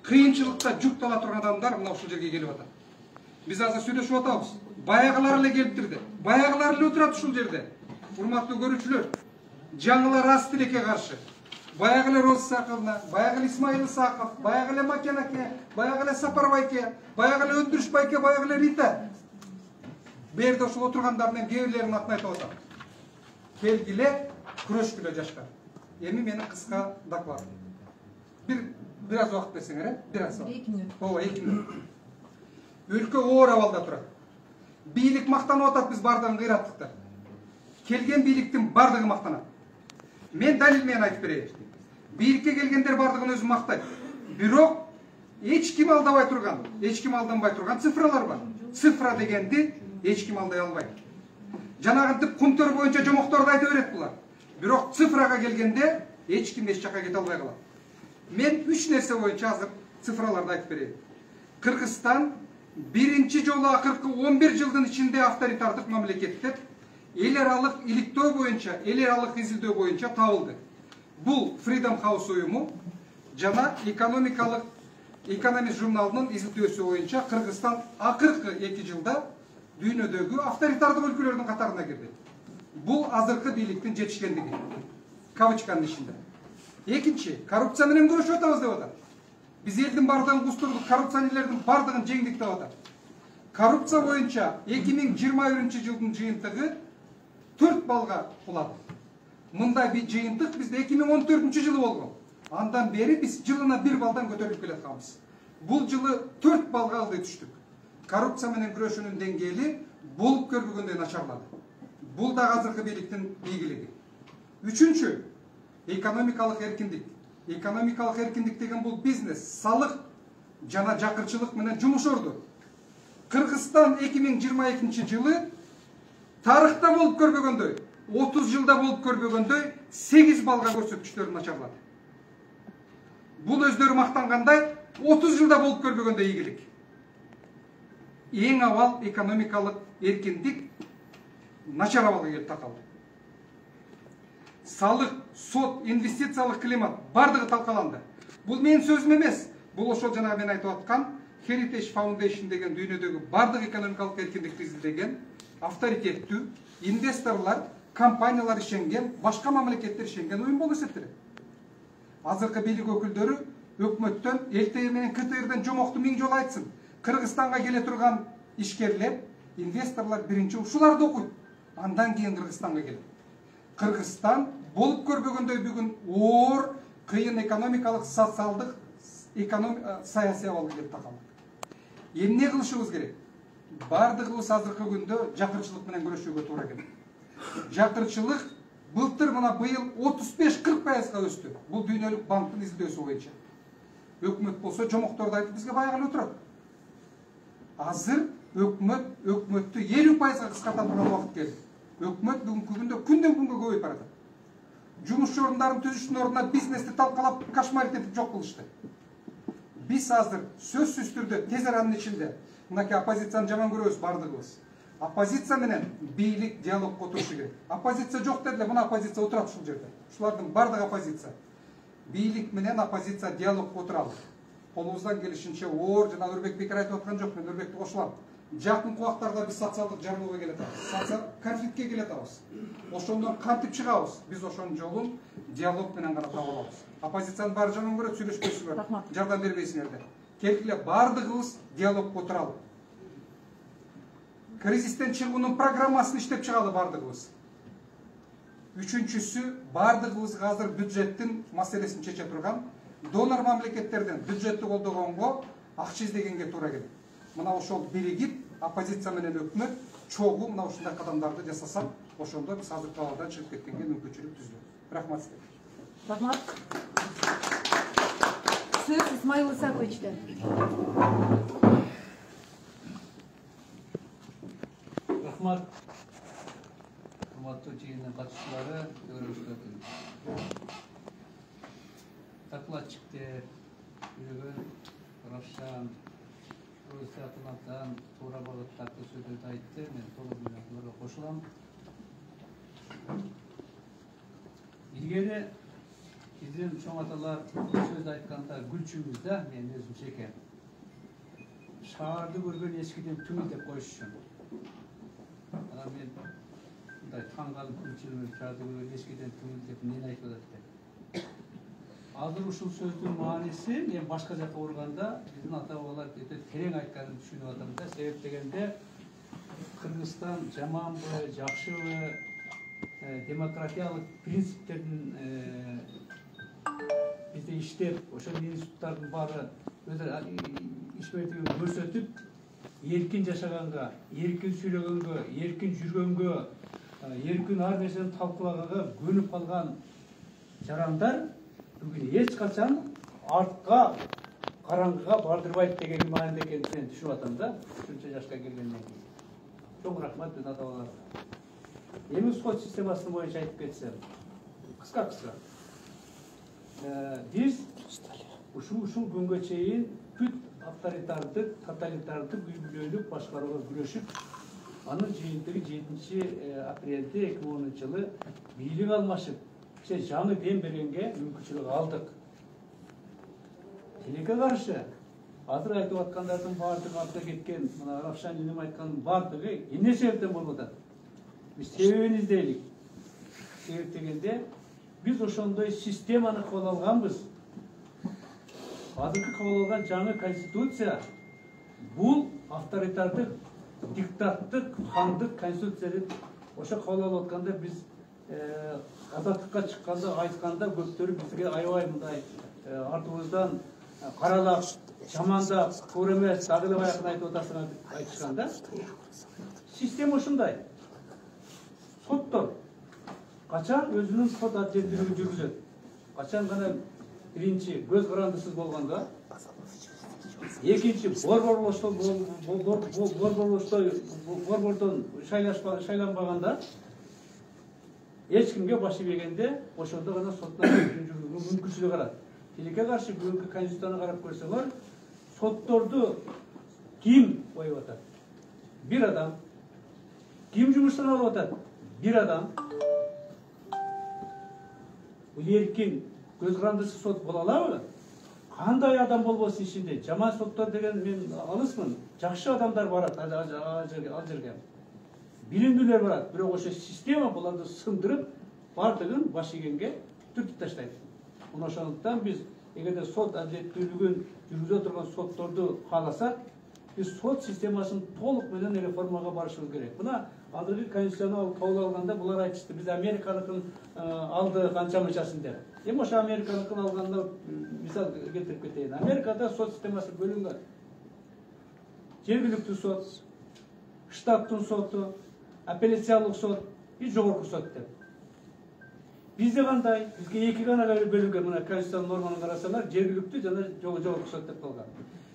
кыйынчылыкта жүктала турган адамдар мына ушул жерге келип атат. Биз азыр сүйлөшүп атабыз. Баягылар эле келиптирди. Баягылар эле отурат ушул жерде. Урматтуу көрүүчүлөр, жаңылар аз тилекке каршы. Баягы эле Роза Саковна, баягы эле Исмаил Исаков, баягы эле Макен аке, баягы эле Сапар байке, баягы эле Өндүрүш байке, баягы эле Рита. Берде ушул отургандардын кээ бирлеринин атын айтып атам. Келгиле, күрөшкүлө жаштар. Эми менин кыска докладым. Бир аз убакыт берсеңер, бир аз. 2 мүнөт. Ооба, 2 мүнөт. Өлкө оор абалда турат. Бийлик мактанып атат, биз бардыгын кыйраттыктар. Келген бийликтин бардыгы мактанат. Мен далил менен айтып берейин. Бийликке келгендер бардыгын өзү мактайт. Бирок эч ким алдабай турган, эч ким алданбай турган цифралар бар. Цифра дегенди эч ким алдай албайт. Жанагынтип кумтөр боюнча жомокторду айта берет булар. Бирок цифрага келгенде эч ким эч жакка кете албай калат. Мен 3 нерсе боюнча азыр цифраларды айтып берейин. Кыргызстан биринчи жолу акыркы 11 жылдын ичинде авторитардык мамлекет деп эл аралык иликтөө боюнча, эл аралык изилдөө боюнча табылды. Бул Freedom House уюму жана экономикалык Экономист журналынын изилтөөсү боюнча Кыргызстан акыркы 2 жылда дүйнөдөгү авторитардык өлкөлөрдүн катарына кирди. Бул азыркы бийликтин жетишкендиги. Кавычканын ичинде. Экинчи, коррупция менен күрөшүп атабыз деп атат. Биз элдин бардыгын кустурдук, коррупционерлердин бардыгын жеңдик деп атат. Коррупция боюнча 2021-жылдын жыйынтыгы 4 балга кулады. Мындай bir жыйынтык бизде 2014-жылы болгон. Андан бери биз жылына 1 балдан көтөрүлүп келатканбыз. Бул жылы 4 балга алды түштүк. Коррупция менен күрөшүүнүн деңгээли болуп көрбөгөндөй начарлады. Бул да азыркы бийликтин ийгилиги. Үчүнчү, экономикалык эркиндик. Экономикалык эркиндик деген бул бизнес, салык жана жакырчылык менен жумуш орду. Кыргызстан 2022-жылы тарыхта болуп көрбөгөндөй, 30 жылда болуп көрбөгөндөй 8 балга көрсөткүчтөрүн начарлады. Бул өздөрү мактангандай 30 жылда болуп көрбөгөндөй ийгилик. Эң авал экономикалык эркиндик начар абалга келип такалды. Салык, сот, инвестициялык климат бардыгы талкаланды. Бул менин сөзүм эмес. Бул ошол жана мен айтып аткан Heritage Foundation деген дүйнөдөгү бардык экономикалык эркиндикти изилдеген, авторитеттүү инвесторлор, компаниялар ишенген, башка мамлекеттер ишенген уюм болуп эсептелет. Азыркы бийлик өкүлдөрү өкмөттөн, ЛТИ менен КТРден жомокту 1000 жолу айтсын. Кыргызстанга келе турган ишкерлер, инвесторлор биринчи ушуларды окуйт. Андан кийин Кыргызстанга келет. Кыргызстан болуп көрбөгөндөй бүгүн оор, кыйын экономикалык, социалдык, саясий абалга келип такалды. Эмне кылышыбыз керек? Бардыгыбыз азыркы күндө жакырчылык менен күрөшүүгө туура келет. Жакырчылык былтыр мына быйыл 35-40%га өстү. Бул дүйнөлүк банктын изилдөөсү боюнча. Өкмөт болсо жомокторду айтып бизге байгалы отурат. Азыр өкмөттү 50%га кыскарта турган убакыт келди. Өкмөт бүгүнкү күндө күндөн күнгө көбөйүп баратат. Жумуш ордундарын түзүштүн ордуна бизнести талкалап, кошмарить этип жок кылышты. Биз азыр сөзсүз түрдө тез аранын ичинде мынакей оппозицияны жаман көрөбүз бардыгыбыз. Оппозиция менен бийлик диалогго отурушу керек. Оппозиция жок дедиле, мына оппозиция отурат ушул жерде. Ушулардын бардыгы оппозиция. Бийлик менен оппозиция диалогго отуралы. Колубуздан келишинче оор жана Нурбек бекер айтып аткан жок, мен Нурбекти кошулам. Жакын убактарда биз социалдык жарылууга келе атабыз. Социал конфликтке келе атабыз. Ошондон кантип чыгабыз? Биз ошонун жолун диалог менен гана таба алабыз. Оппозициянын баары жаман көрөт, сүйлөшпөйсүңөр, жардам бербейсиңер. Келгиле бардыгыбыз диалогго отуралы. Кризистен чыгуунун программасын иштеп чыгалы бардыгыбыз. Үчүнчүсү, бардыгыбызга азыр бюджеттин маселесин чече турган донор мамлекеттерден бюджетти колдогонго акча издегенге туура келет. Мына ошол биригип, оппозиция менен өкмөт чогуу мына ушундай кадамдарды жасасак, ошондо биз азыркы абалдан чыгып кеткенге мүмкүнчүлүк түзүлөт. Рахмат сизге. Рахмат. Сөз Исмаил Исаковичте. Рахмат. Урматтуу жыйындын катышчылары, көрүүчүлөр. Докладчиктер, Үйгөн, Равшан, Русатынатан туура багыттагы сөздөрдү айтты. Мен толук менен кошулам. Илгери биздин чоң аталар сөз айтканда гүлчүбүз да, мен өзүмчө экен. Шаарды көргөн эскиден түңүл деп коюшчу. Анан мен мындай таң калып гүлчүбүз шаарды көргөн эскиден түңүл деп эмнени айтып атат деп. Азыр ушул сөздүн мааниси мен башка жакка урганда биздин ата бабалар өтө терең айтканын түшүнүп атам да. Себеп дегенде Кыргызстан жаманбы, жакшыбы, демократиялык принциптердин бизде иштеп, ошол институттардын баары өзү иш берүүдүн көрсөтүп, эркин жашаганга, эркин сүйлөгөнгө, эркин жүргөнгө, эркин ар нерсени талкуулаганга көнүп калган жарандар бүгүн эч качан артка, караңгыга бардырбайт деген мааниде экенин мен түшүнүп атам да, ушунча жашка келгенден кийин. Чоң рахмат биздин ата-бабаларга. Эми сот системасы боюнча айтып кетсем, кыска. Биз ушул күнгө чейин бүт авторитардык, тоталитардык, үй бүлөлүк башкарууга күрөшүп, анын жыйынтыгы 7 апрелде 2010-жылы бийлик алмашып, жаңы дем бергенге мүмкүнчүлүк алдык. Тилекке каршы азыр айтып аткандардын баардыгы артта кеткен, мына Равшан Инем айткандын баардыгы эмне себептен болуп атат? Биз себебин издейлик. Себеп дегенде биз ошондой системаны кабыл алганбыз. Азыркы кабыл алган жаңы конституция бул авторитардык, диктаттык, хандык конституция деп ошо кабыл алып атканда биз азаттыкка чыкканда айтканда көптөрү бизге аябай мындай артыбыздан каралап, жамандап, туура эмес, дагы эле баягы айтып атасыңар деп айтышканда, система ушундай. Соттор качан өзүнүн сот адилеттүүлүгүн жүргүзөт? Качан гана биринчи көз карандысыз болгондо, экинчи борбордон шайланбаганда, эч кимге баш ийбегенде, ошондо гана соттун жүргүзүүгө мүмкүнчүлүк алат. Тилекке каршы бүгүнкү конституцияны карап көрсөңөр, сотторду ким коюп атат? Бир адам. Ким жумуштан алып атат? Бир адам. Бул эркин, көз карандысыз сот боло алабы? Кандай адам болбосун ичинде? Жаман соттор деген мен алысмын. Жакшы адамдар барат ал жерге. Билимдүүлөр барат, бирок ошо система буларды сындырып, бардыгын баш ийгенге түртүп таштайт. Мына ошондуктан биз эгерде сот адилеттүүлүгүн жүргүзө турган сотторду кааласак, биз сот системасын толук менен реформага барышыбыз керек. Мына азыркы конституцияны кабыл алганда булар айтышты, биз Американыкын алды канча мынчасын деп. Эми ошо Американыкын алганда мисал келтирип кетейин. Америкада сот системасы бөлүнгөн. Жергиликтүү сот, штаттын соту, апелляциялык сот и жогорку сот деп. Бизде кандай? Бизге эки гана бөлүнгөн. Мына конституциянын норманы карасаңар, жергиликтүү жана жогорку сот деп калган.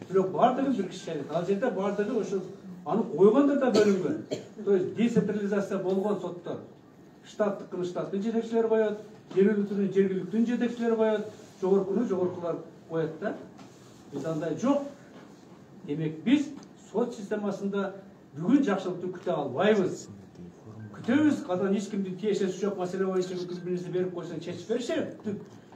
Бирок бардыгы бир киши. Ал жерде бардыгы ошо аны койгондор да бөлүнгөн. То есть децентрализация болгон соттор. Штаттыкын штаттын жетекчилери коет, жергиликтүүнүн жергиликтүүнүн жетекчилери коет, жогоркуну жогоркулар коет да. Биз андай жок. Демек биз сот системасында бүгүн жакшылыкты күтө албайбыз. Күтөбүз, кадан эч кимдин тиешеси жок маселе боюнча бириңизди берип койсоң чечип беришет.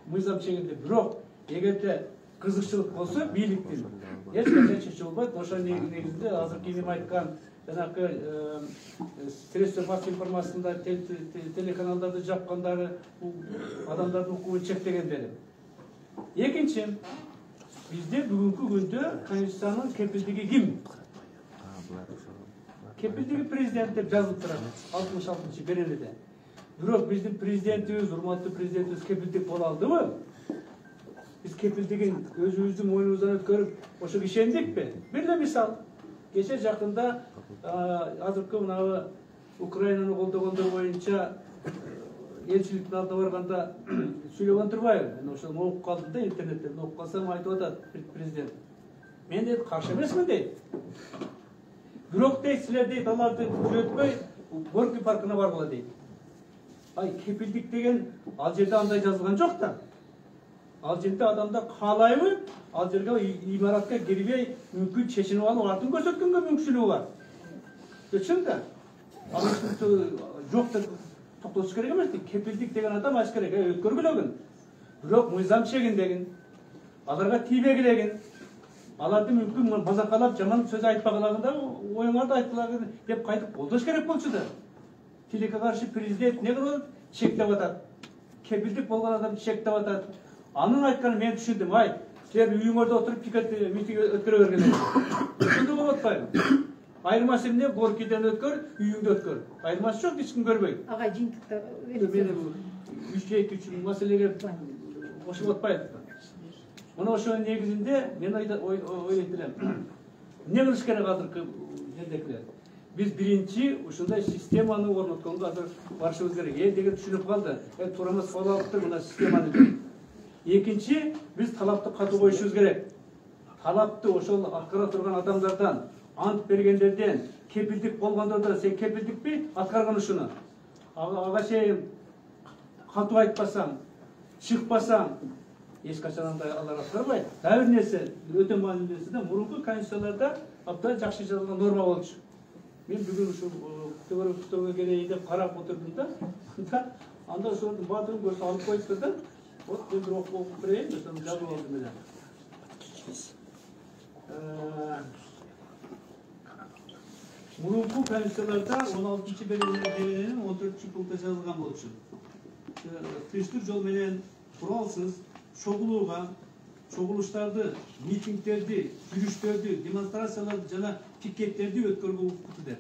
Мыйзам чегинде. Бирок эгерде кызыкчылык болсо бийликтин эч качан чечип болбойт. Ошо негизинде азыркы Инем айткан жанагы средства массовой информациясында телеканалдарды жапкандары, адамдардын укугун чектегендери. Экинчи, бизде бүгүнкү күндө конституциянын кепилдиги ким? Кепилдиги президент деп жазылып турат 66-беренеде. Бирок биздин президентибиз, урматтуу президентибиз кепилдик боло алдыбы? Биз кепилдигин өзүбүздүн мойнубуздан өткөрүп, ошого ишендикпи? Бир эле мисал. Кече жакында азыркы мына Украинаны колдогондор боюнча элчиликтин алдына барганда сүйлөгөн турбайбы? Мен ошону окуп калдым да интернеттен. Окуп калсам айтып атат президент. Мен дейт каршы эмесмин дейт. Бирок дейт силер дейт аларды күзөтпөй Горький паркына баргыла дейт. Ай кепилдик деген ал жерде андай жазылган жок да. Ал жерде адамда каалайбы, ал жерге имаратка кирбей мүмкүн чечинип алып артын көрсөткөнгө мүмкүнчүлүгү бар. Чын да. Ал жок деп токтотуш керек эмес. Кепилдик деген адам аш керек, өткөргүлөгүн. Бирок мыйзам чегиндегин, аларга тийбегилегин, аларды мүмкүн базакалап жаман сөз айтпагалагында оюңарды айтпалагын деп кайтып колдош керек болчу да. Тилекке каршы президент не кылып чектеп атат. Кепилдик болгон адам чектеп атат. Анын айтканын мен түшүндүм. Ай, силер үйүңөрдө отуруп митинг өткөрө бергиле. Ошондой болуп атпайбы? Айырмасы эмне? Горкийден өткөр, үйүңдө өткөр. Айырмасы жок, эч ким көрбөйт. Ага жыйынтыкта үчүн маселеге кошуп атпайбы. Мына ошонун негизинде мен ойлойт элем. Эмне кылыш керек азыркы жердекилер? Биз биринчи ушундай системаны орнотконго азыр барышыбыз керек. Деген түшүнүп калды. Туура эмес кабыл алыптыр мына системаны. Экинчи, биз талапты катуу коюшубуз керек. Талапты ошол аткара турган адамдардан, ант бергендерден, кепилдик болгондордон сен кепилдикпи аткарган ушуну? Ага чейин катуу айтпасаң, чыкпасаң, эч качан андай алар аткарбайт. Дагы бир нерсе, өтө маанилүү нерсе да, мурунку конституцияларда абдан жакшы жазылган норма болчу. Мен бүгүн ушул көтөрүүгө келейин деп карап отурдум да. Анда ошонун баардыгын көрсө алып коюптур да. Вот мен бир окуп берейин, ошону жазып алдым эле. мурунку конституцияларда 16-берененин 14-пунктта жазылган болчу. Тынчтык жол менен куралсыз чогулууга, чогулуштарды, митингдерди, жүрүштөрдү, демонстрацияларды жана пикеттерди өткөрүүгө укуктуу деп.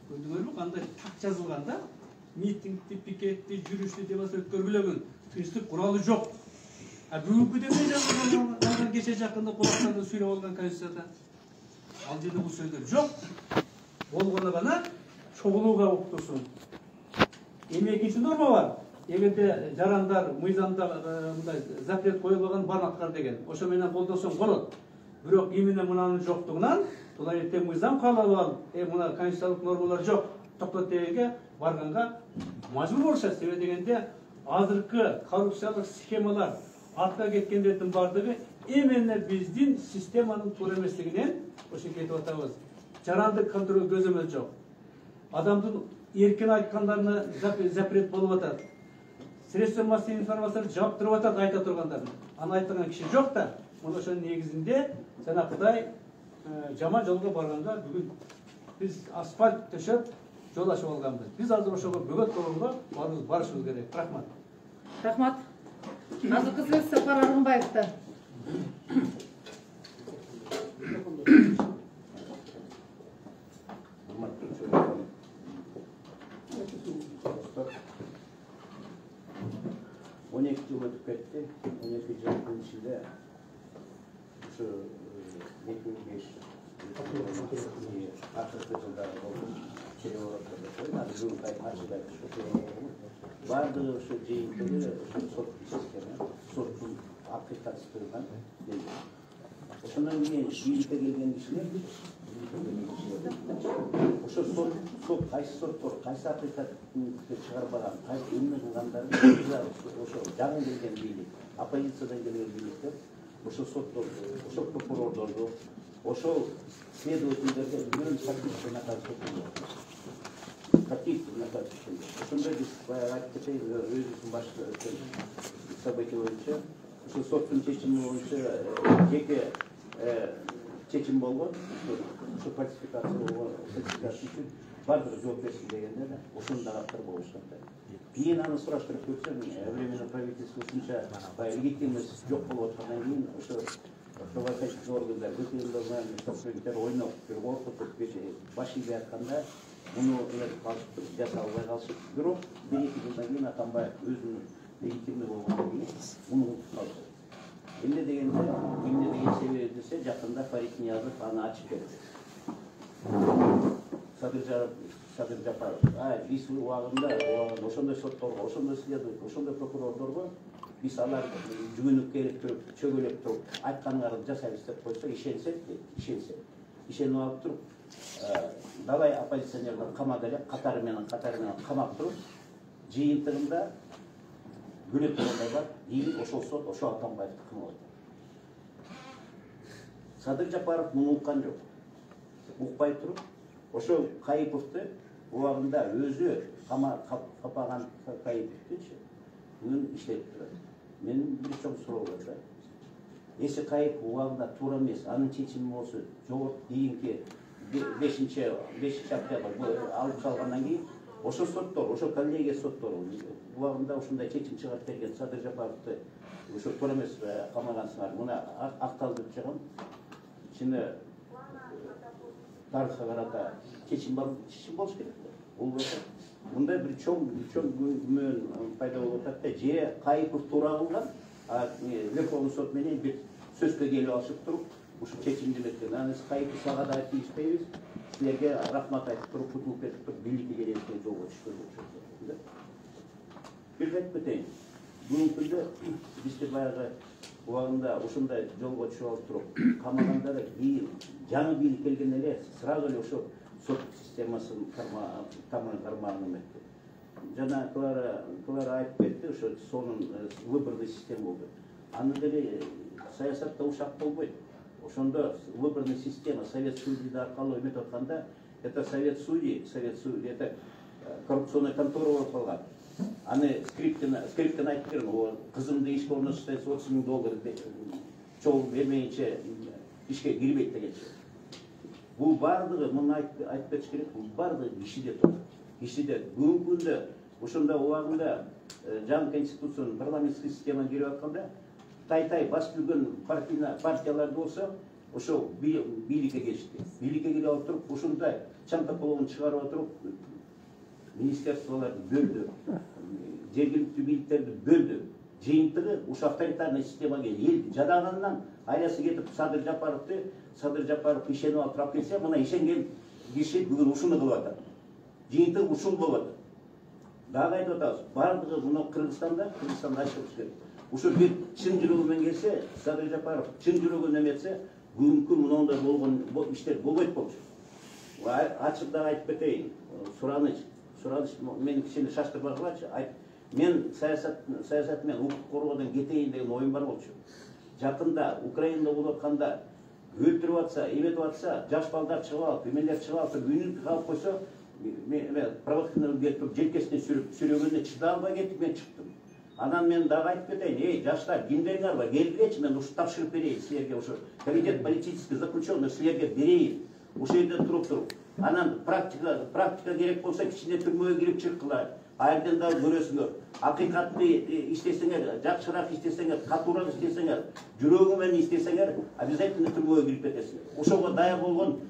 Көрдүңөрбү кандай так жазылган да? Митингди, пикетти, жүрүштү, демонстрация өткөргүлөгөн тынчтык куралы жок. А бүгүнкү демей жазылган кече жакында кулактарды сүйлөп алган конституцияда ал жерде бул сөздөр жок. Болгону гана чогулууга укуктуусун. Эми экинчи норма бар. Эгерде жарандар, мыйзамда мындай запрет коюлган бармактар деген. Ошо менен колдосоң болот. Бирок эмне мынанын жоктугунан булар эртең мыйзам кабыл алып, мына конституциялык нормалар жок, токтот дегенге барганга мажбур болушат. Себеби дегенде азыркы коррупциялык схемалар артка кеткендердин бардыгы эмне биздин системанын туура эместигинен ошо кетип атабыз. Жарандык контроль көзөмөл жок. Адамдын эркин айткандарына запрет болуп атат. Средства массовой информацияны жаап туруп атат айта тургандарын. Аны айтпаган киши жок да. Мына ошонун негизинде жанакыдай жаман жолго барганда бүгүн биз асфальт төшөп жол ачып алганбыз. Биз азыр ошого бөгөт болгонго баарыбыз барышыбыз керек. Рахмат. Рахмат. Азыркы сөз Сапар Аргынбаевда. Жыл өтүп кетти. 12 жылдын ичинде ушу 2005 акыркы жылдары болгон баардыгы ушу жыйынтыгы ушу сот система, соттун акыйкатсыздыгынан келген. Ошондон кийин бийликке келген кишилер ошо сот кайсы соттор кайсы акыйкатты чыгарбаган, кайсы эмне кылгандарын ошо жаңы келген бийлик, оппозициядан келген бийликтер ошо сотторду, ошо прокурордорду, ошол следовательдерге үлгүн фактический наказ өткөрдү. Фактический наказ өткөрдү. Ошондой биз баягы айтып кетейин, өзүбүздүн башкы события боюнча ошо соттун чечими боюнча жеке чечим болгон, ошо фальсификация болгон, фальсификация үчүн баардыгы жооп берсин дегенде да ошондой каттар болушат. Кийин аны сураштырып көрсөм, временный правительство ушунча легитимность жок болуп аткандан кийин ошо правоохранительный органдар көтөрүлгөн ойноп, коркутуп, баш ийбей атканда муну жаса албай калышып, бирок 1-2 жылдан кийин Атамбаев өзүнүн легитимный болгондон кийин муну унутуп калды. Эмне деген себеби десе, жакында Фарид Ниязов аны ачып берди. Садыр Жапаров, биз убагында ошондой сотторго, ошондой следователь, ошондой прокурордорго биз аларды жүгүнүп келип туруп, чөгөлөп туруп, айтканыңарды жасайбыз деп койсок, ишенип алып туруп, далай оппозиционерлер камады эле, катары менен камап туруп, жыйынтыгында күнөп болгондар бар, кийин ошол сот, ошо Атамбаевди камап атат. Садыр Жапаров муну уккан жок. Укпай туруп, ошо Кайыповду убагында өзү капаган Кайыповдучу бүгүн иштеп турат. Менин бир чоң суроо бар да. Эси Кайыпов убагында туура эмес, анын чечими болсо, жогорку кийинки 5-октябрда алып салгандан кийин ошо соттор, ошо коллегия соттору убагында ушундай чечим чыгарып берген Садыр Жапаровду ошо туура эмес камагансыңар, муна акталдырып чыгам. Ичинде тарыхка карата чечим болуш керек. Болбосо мындай бир чоң күмөн пайда болуп атат да, же Кайыпов туура кылган, Верховный сот менен бир сөзгө келип алышып туруп, ушул чечимди берген. Аны Кайыпов сага да тийишпейбиз, силерге рахмат айтып туруп, кутулуп кетип туруп, бийликке келетине жолго түшкөн. Бир айтып кетейин. Бүгүнкү күндө бизде баягы убагында ушундай жолго түшүп алып туруп, камагандар кийин жаңы бийлик келген эле сразу эле ошо сот системасын кармагына метти. Жана Клара айтып кетти, ошо сонун выборный система болду. Аны деле саясатта ушак болбойт. Ошондо выборный система совет судьи аркылуу эметип атканда, это совет судьи, это коррупционный контора болуп калган. Аны скриптен айтып берген, кызымды ишке орнотуштайсы $30,000 чогуу бермейинче ишке кирбейт дегенче. Бул баардыгы муну айтып кетиш керек. Бул баардыгы кишиде турат. Кишиде бүгүнкү күндө ошондо убагында жаңы конституциянын парламенттик системаны кирип атканда тай бас жүргөн партиялар болсо ошол бийликке келишти. Бийликке келип алып туруп ушундай чантаполовун чыгарып отуруп министерстволорду бөлдү, жергиликтүү бийликтерди бөлдү. Жыйынтыгы ушу авторитарный системага элди жадагандан айласы кетип Садыр Жапаров ишенип алып турап келсе, мына ишенген киши бүгүн ушуну кылып атат. Жыйынтыгы ушул болуп атат. Дагы айтып атабыз, бардыгы мына Кыргызстанда айтылыш керек. Ушу бир чын жүрөгү келсе, Садыр Жапаров чын жүрөгүн эметсе, бүгүнкү мындай болгон иштер болбойт болчу. Ачык дагы айтып кетейин. Сураныч мени кичине шаштырбагылачы. Мен саясат менен укук коргоодон кетейин деген оюм бар болчу. Жакында Украинада болуп атканда өлтүрүп атса, эметип атса, жаш балдар чыгып алып, эмелер чыгып алып, үнүн калып койсо, провокаторлор келип туруп желкесинен сүрөгөндө чыдай албай кетип мен чыктым. Анан мен дагы айтып кетейин, эй, жаштар, кимдериңер бар, келгилечи, мен ушу тапшырып берейин силерге, ошо комитет политических заключенных силерге берейин. Ошол жерде туруп. Анан практика керек болсо кичине түрмөгө кирип чыккыла. Айрден дагы көрөсүңөр. Акыйкатты иштесеңер, жакшыраак иштесеңер, катуураак иштесеңер, жүрөгү менен иштесеңер, обязательно түрмөгө кирип кетесиңер. Ошого даяр болгон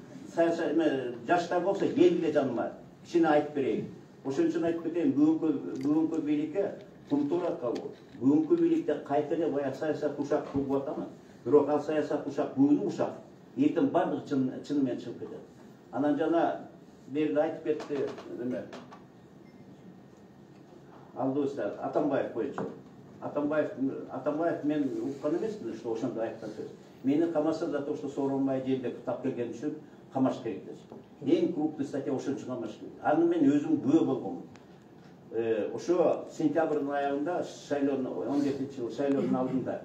жаштар болсо келгиле жаныма. Кичине айтып берейин. Ошон үчүн айтып кетейин, бүгүнкү бийликке культура калуу. Бүгүнкү бийликте кайта эле баягы саясат ушак кылып атамын. Бирок ал саясат ушак, бүгүн ушак. Эртең бардыгы чын менен чыгып кетет. Анан жана берде айтып кетти, алдыбызда Атамбаев боюнча. Атамбаев мен уккан эмесмин, что ошондо айткан сөз. Мени камаса за то, что Сооронбай жерде тап келген үчүн камаш керек деп. Эң крупный статья ошон үчүн камаш керек. Аны мен өзүм күбө болгомун. Ошо сентябрдын аягында 17-жылы шайлоонун алдында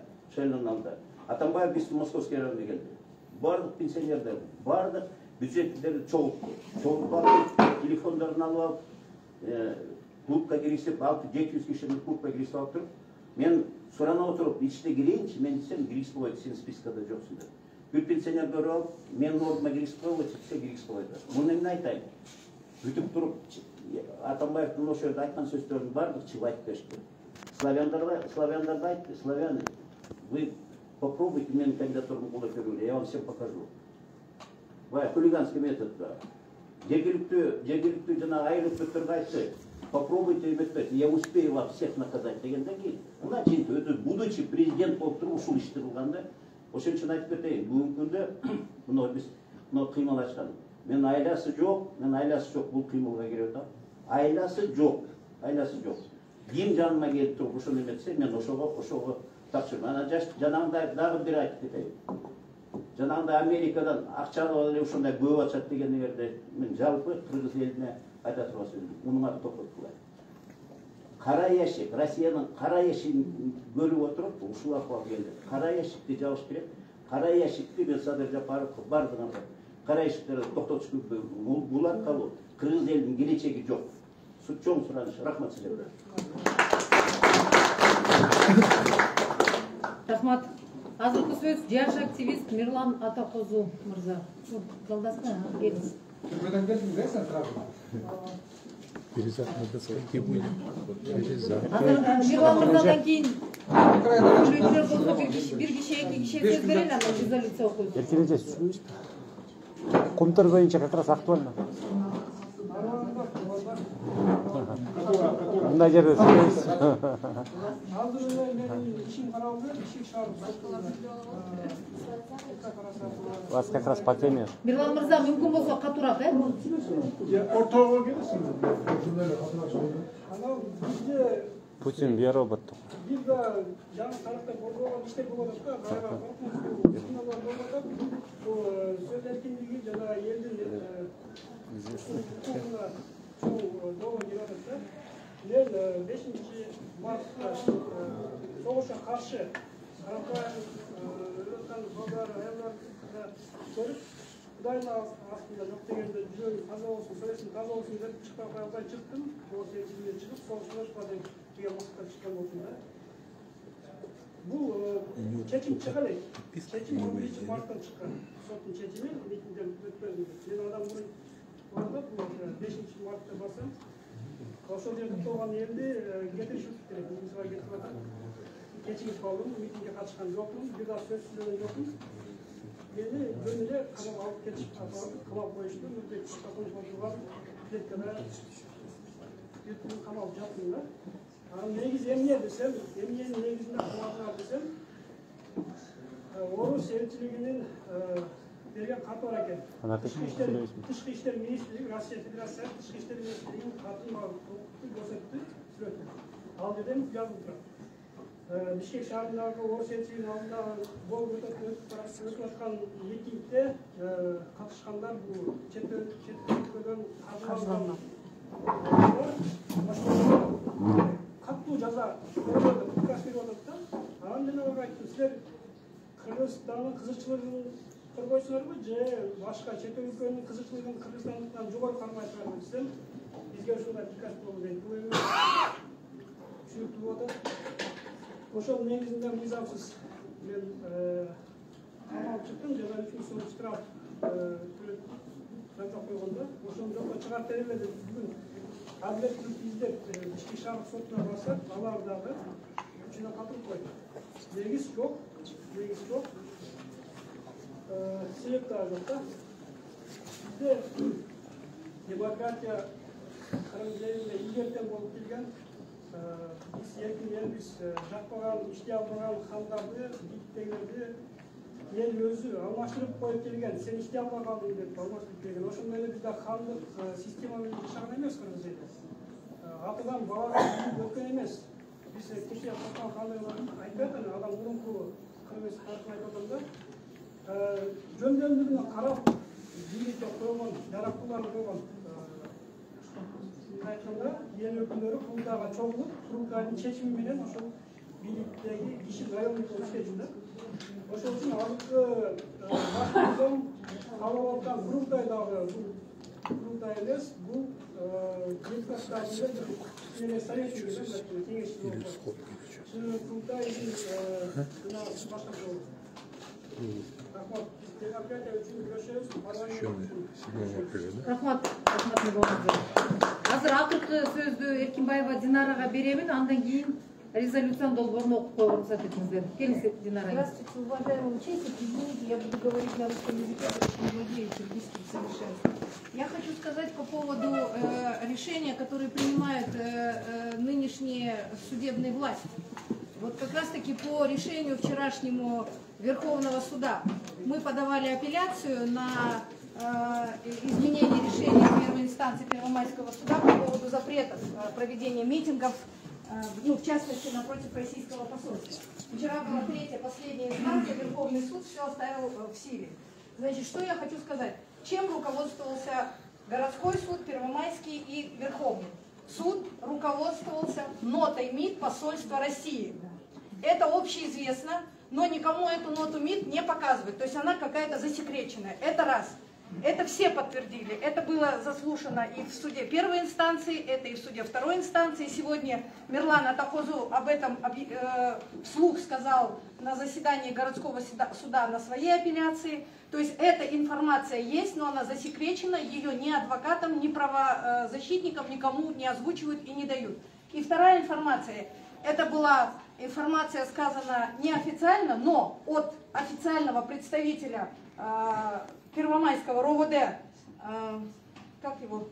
Атамбаев биздин Московский районуна келди. Бардык пенсионерлер, бардык бюджеттерди чогултуп алып, телефондорун алып алып, клубка киришип, 600-700 кишинин клубка киришип алып туруп, мен сурана отуруп, ичине кирейинчи, мен десем, киргизип койбойт, сен спискада жоксуң деп. Бир пенсионер көрүп алып, менин ордума киргизип койбойт, десе киргизип койбойт. Муну эмне айтайын? Бүтүп туруп, Атамбаевдин ошол жерде айткан сөздөрүн бардык чыгып айтып беришти. Славяндарды айтты, славяне, вы попробуйте менин кандидатурумду колдоп көргүлө, я вам всем покажу. Хулиганский метод. Жергиликтүү жана айрым өкмөттөргө айтты, попробуйте эметпейт, я успею вас всех наказать дегенден кийин, мына чынтып өзү будучи президент болуп туруп ушул ишти кылганда, ошон үчүн айтып кетейин, бүгүнкү күндө мына кыймыл ачкан. Мен айласы жок, бул кыймылга кирип атам. Айласы жок. Ким жаныма келип туруп ошону эметсе, мен ошого тапшырам. Анан жанагындай дагы бир айтып кетейин. Жанагындай Америкадан акча алып эле ушундай көп ачат дегендерди мен жалпы кыргыз элине айта турган мунуңарды токтоткула. Кара ящик, Россиянын кара ящигин көрүп отуруп ушул акыбалга келди. Кара ящикти жабыш керек. Кара ящикти мен Садыр Жапаровго бардыгын кара ящиктерди токтотуш керек. Бул аркылуу кыргыз элинин келечеги жок. Чоң сураныш. Рахмат силерге. Рахмат. Азыркы сөз жаш активист Мирлан Атакозу мырза. Жолдасыңыз, келиңиз. Түрмөдөн келдиң да сен тарабына? Мирлан мырзадан кийин бир киши, эки киши сөз берели, анан резолюция окуйбуз. Эркелете Комтор боюнча как раз актуально. Мындай жерде сөйлөйсүз. Азыр менин ишим каралды, ишик чыгарып У вас как раз по теме. Мирлан мырза, мүмкүн болсо катуураак, ортого келесиңиз. Анан бизде Путин биороботтук. бизде жаңы тарапта болгон иштер болуп атат да, баягы коркунучтуу сыналар болуп атат. Бул сөз эркиндиги жана элдин укугуна чоң кирип атат да. Мен 5-мартта согушка каршы Карапаев өткөн балдар аялдар көрүп, Кудайдын астында жок дегенде жүрөгүм таза болсун, совестим таза болсун деп чыкпай кое албай чыктым. Бул сеятчиликке чыгып, согушка деген максатта чыккан болчумун да. Бул чечим чыга элек. Чечим 11 марттан чыккан. Соттун чечими митингден өтпөдү. Мен адам бардып, 5 мартта барсам, ошол жерде турган элди кетиришип керек. Мисалга кетип атат. Кечигип калдым, митингге катышкан жокмун, бир да сөз сүйлөгөн жокмун. Мени жөнүндө камап алып кетишип, камап коюшту. Мындай катышкан турган клеткада бир күн камалып жаттым да. Негизи эмне десем, эмненин негизинде камалган десем, Орус элчилигинин берген каты бар экен. Тышкы иштер министрлиги, Россия Федерациясынын тышкы иштер министрлигинин катын көрсөттү, сүрөттү. Ал жерде жазылып турат. Бишкек шаарындагы Орус элчилигинин алдында болуп өтүп аткан митингде катышкандар бул чет өлкөдөн каржыланган каттуу жаза приказ берип атат да. Анан мен аларга айттым, силер Кыргызстандын кызыкчылыгын коргойсуңарбы же башка чет өлкөнүн кызыкчылыгын Кыргызстандан жогору кармайсыңарбы десем, бизге ушундай приказ болду дейт. Бул эми түшүнүктүү болуп атат. Ошол негизинде мыйзамсыз мен камалып чыктым, жана 3 сом штраф жазап койгондо, ошону жокко чыгарып берели деп бүгүн адилеттүүлүктү издеп ички шаардык сотуна барсак, алар дагы үчүнө катылып койду. Негиз жок, себеп дагы жок да. Бизде демократия Кырым жеринде илгертен болуп келген, биз эркин элбиз, жакпаган, иштей албаган хандарды, биттегилерди эл өзү алмаштырып коюп келген. Сен иштей албай калдың деп алмаштырып келген. Ошондой эле бизде хандык система менен жашаган эмес Кыргыз эли. Атадан бабага өткөн эмес. Биз кечээ Султан хандыгын айтат, адам мурунку Кыргыз тарыхын айтып атканда, жөндөмдүгүнө карап бийликке койгон, жараттууларды койгон. Айтканда, эл өкүлдөрү курултайга чогулуп, курултайдын чечими менен ошол бийликтеги киши райондук иштейт да. Ошол үчүн азыркы башкардын калып аткан курултай дагы бул курултай эмес, бул депутаттардын совет кеңешчи курултайдын башкасы болот. Рахмат. Демократия үчүн күрөшөбүз. Рахмат болуңуздар. Азыр акыркы сөздү Эркинбаева Динарага беремин, андан кийин резолюциянын долбоорун окуп коюуга уруксат этиңиздер. Келиңиз, Динара. Здравствуйте, уважаемые участники. Извините, я буду говорить на русском языке, потому что не владею киргизским совершенно. Я хочу сказать по поводу решения, которые принимают нынешние судебные власти. Вот как раз таки по решению вчерашнему Верховного суда мы подавали апелляцию на изменение решения первой инстанции Первомайского суда по поводу запретов проведения митингов, ну, в частности, напротив российского посольства. Вчера была третья, последняя инстанция, Верховный суд все оставил в силе. Значит, что я хочу сказать? Чем руководствовался городской суд, Первомайский и Верховный? Суд руководствовался нотой МИД посольства России. Это общеизвестно, но никому эту ноту МИД не показывают. То есть она какая-то засекреченная. Это раз. Это все подтвердили. Это было заслушано и в суде первой инстанции, это и в суде второй инстанции. Сегодня Мирлан Атахозу об этом вслух сказал на заседании городского суда на своей апелляции. То есть эта информация есть, но она засекречена, ее ни адвокатам, ни правозащитникам никому не озвучивают и не дают. И вторая информация. Это была информация сказана неофициально, но от официального представителя Первомайского РОВД, как его,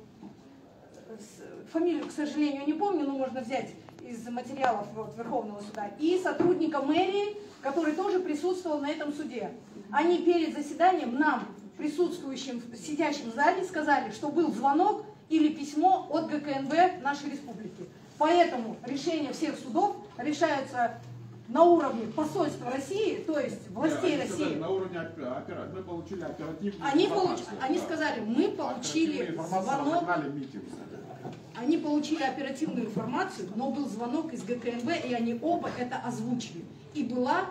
фамилию, к сожалению, не помню, но можно взять из материалов Верховного суда, и сотрудника мэрии, который тоже присутствовал на этом суде. Они перед заседанием нам, присутствующим, сидящим в зале, сказали, что был звонок или письмо от ГКНБ нашей республики. Поэтому решения всех судов решаются на уровне посольства России, то есть властей России. На уровне мы получили оперативную Они сказали, мы получили звонок. Они получили оперативную информацию, но был звонок из ГКНБ, и они оба это озвучили. И было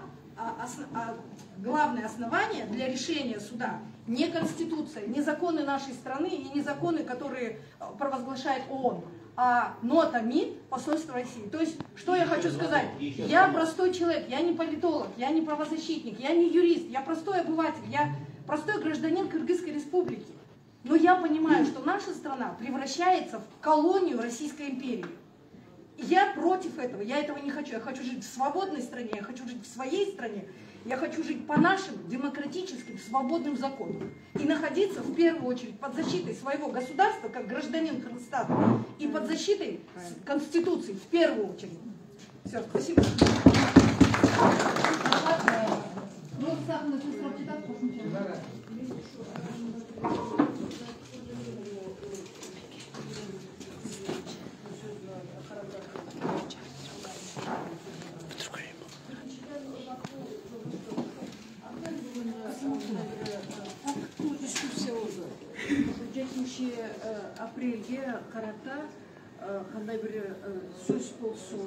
главное основание для решения суда не Конституция, не законы нашей страны и не законы, которые провозглашает ООН, а нотами посольства России. То есть, что я хочу сказать? Я простой человек, я не политолог, я не правозащитник, я не юрист, я простой обыватель, я простой гражданин Кыргызской республики. Но я понимаю, что наша страна превращается в колонию Российской империи. Я против этого, я этого не хочу. Я хочу жить в свободной стране, я хочу жить в своей стране, я хочу жить по нашим демократическим, свободным законам. И находиться в первую очередь под защитой своего государства, как гражданин Кыргызстана, и под защитой Конституции в первую очередь. Все, спасибо. Апрелге карата кандай бир сөз болсо,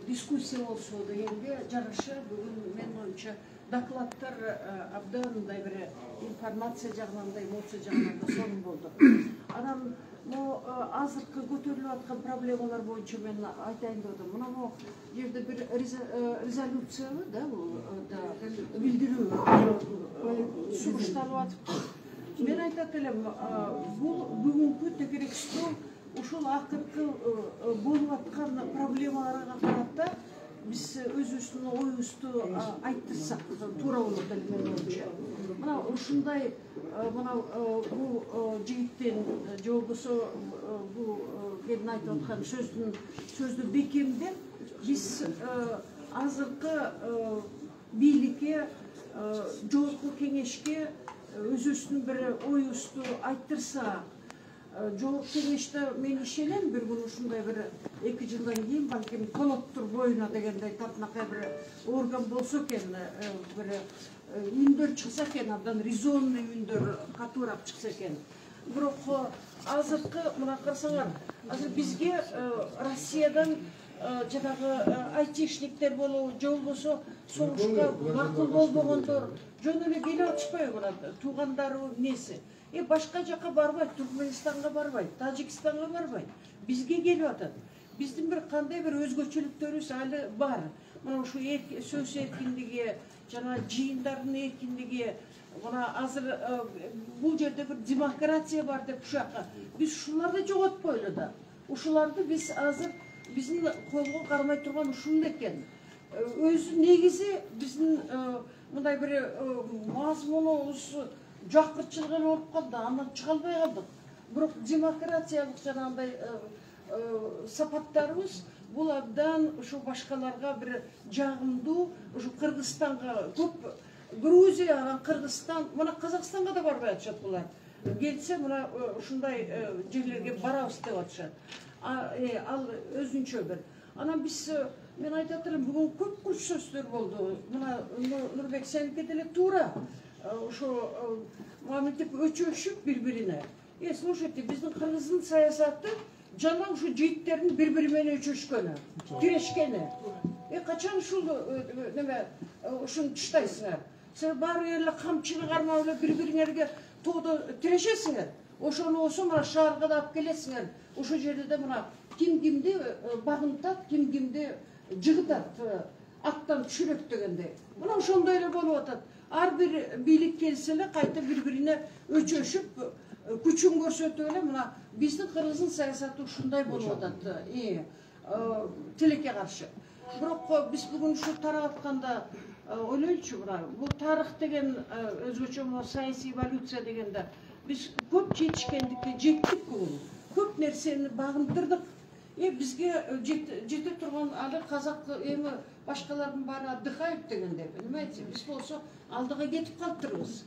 дискуссия болсо дегенге жараша бүгүн менин оюмча докладдар абдан мындай бир информация жагынан да, эмоция жагынан да сонун болду. Анан азыркы көтөрүлүп аткан проблемалар боюнча мен айтайын деп атам. Мына бул жерде бир резолюциябы да, бул билдирүү сунушталып атып. Мен айтат элем, бул бүгүнкү текерекстөө ушул акыркы болуп аткан проблемаларга карата биз өзүбүздүн оюбузду айттырсак туура болот эле менин оюмча. Мына ушундай бул жигиттин же болбосо бул келин айтып аткан сөздү бекемдеп биз азыркы бийликке, жогорку кеңешке өзүбүздүн бир оюбузду айттырсак, жогорку кеңеште мен ишенем бир күн ушундай бир 2 жылдан кийин балким колоттур боюна дегендей татынакай бир орган болсо экен, бир үндөр чыкса экен, абдан резонный үндөр катуураак чыкса экен. Бирок азыркы мына карасаңар, азыр бизге Россиядан жанагы айтишниктер болобу, же болбосо согушка макул болбогондор жөн эле келип атышпайбы, мына туугандарыбы эмнеси. Башка жака барбайт, Түркменистанга барбайт, Тажикстанга барбайт. Бизге келип атат. Биздин бир кандай бир өзгөчөлүктөрүбүз али бар. Мына ушу сөз эркиндиги, жана жыйындардын эркиндиги, мына азыр бул жерде бир демократия бар деп ушака. Биз ушуларды жоготпойлу да. Ушуларды биз азыр биздин колго кармай турган ушул экен. Өзү негизи биздин мындай бир мазмунубуз жакырчылыгы болуп калды, андан чыга албай калдык. Бирок демократиялык жанагындай сапаттарыбыз бул абдан ушу башкаларга бир жагымдуу, ушу Кыргызстанга көп, Грузия, анан Кыргызстан, мына Казакстанга да барбай атышат булар. Келсе мына ушундай жерлерге барабыз деп атышат. Ал өзүнчө бир. Анан биз мен айтат элем, бүгүн көп күч сөздөр болду. Мына Нурбек сеники деле туура. Ошо маминтип өчөшүп бири-бирине. Слушайте, биздин Кыргыздын саясаты жана ушу жыйттердин бири-бири менен өчөшкөнү, тирешкени. Качан ушул неме ушуну туштайсыңар? Силер баары эле камчыны кармап эле бири-бириңерге тоодо тирешесиңер. Ошону болсо мына шаарга да алып келесиңер. Ошол жерде да мына ким кимди багынтат, ким кимди жыгытат, аттан түшүрөт дегендей. Мына ошондой эле болуп атат. Ар бир бийлик келсе эле кайта бири-бирине өчөшүп, күчүн көрсөтүп эле мына биздин Кыргыздын саясаты ушундай болуп атат. Тилекке каршы. Бирок биз бүгүн ушу тарап атканда ойлойчу, мына бул тарых деген өзгөчө саясий эволюция дегенде биз көп жетишкендикке жеттик бүгүн. Көп нерсени багынтырдык. Бизге жете турган али казак эми башкалардын баары отдыхают дегенде, понимаете? Биз болсо алдыга кетип калыптырбыз.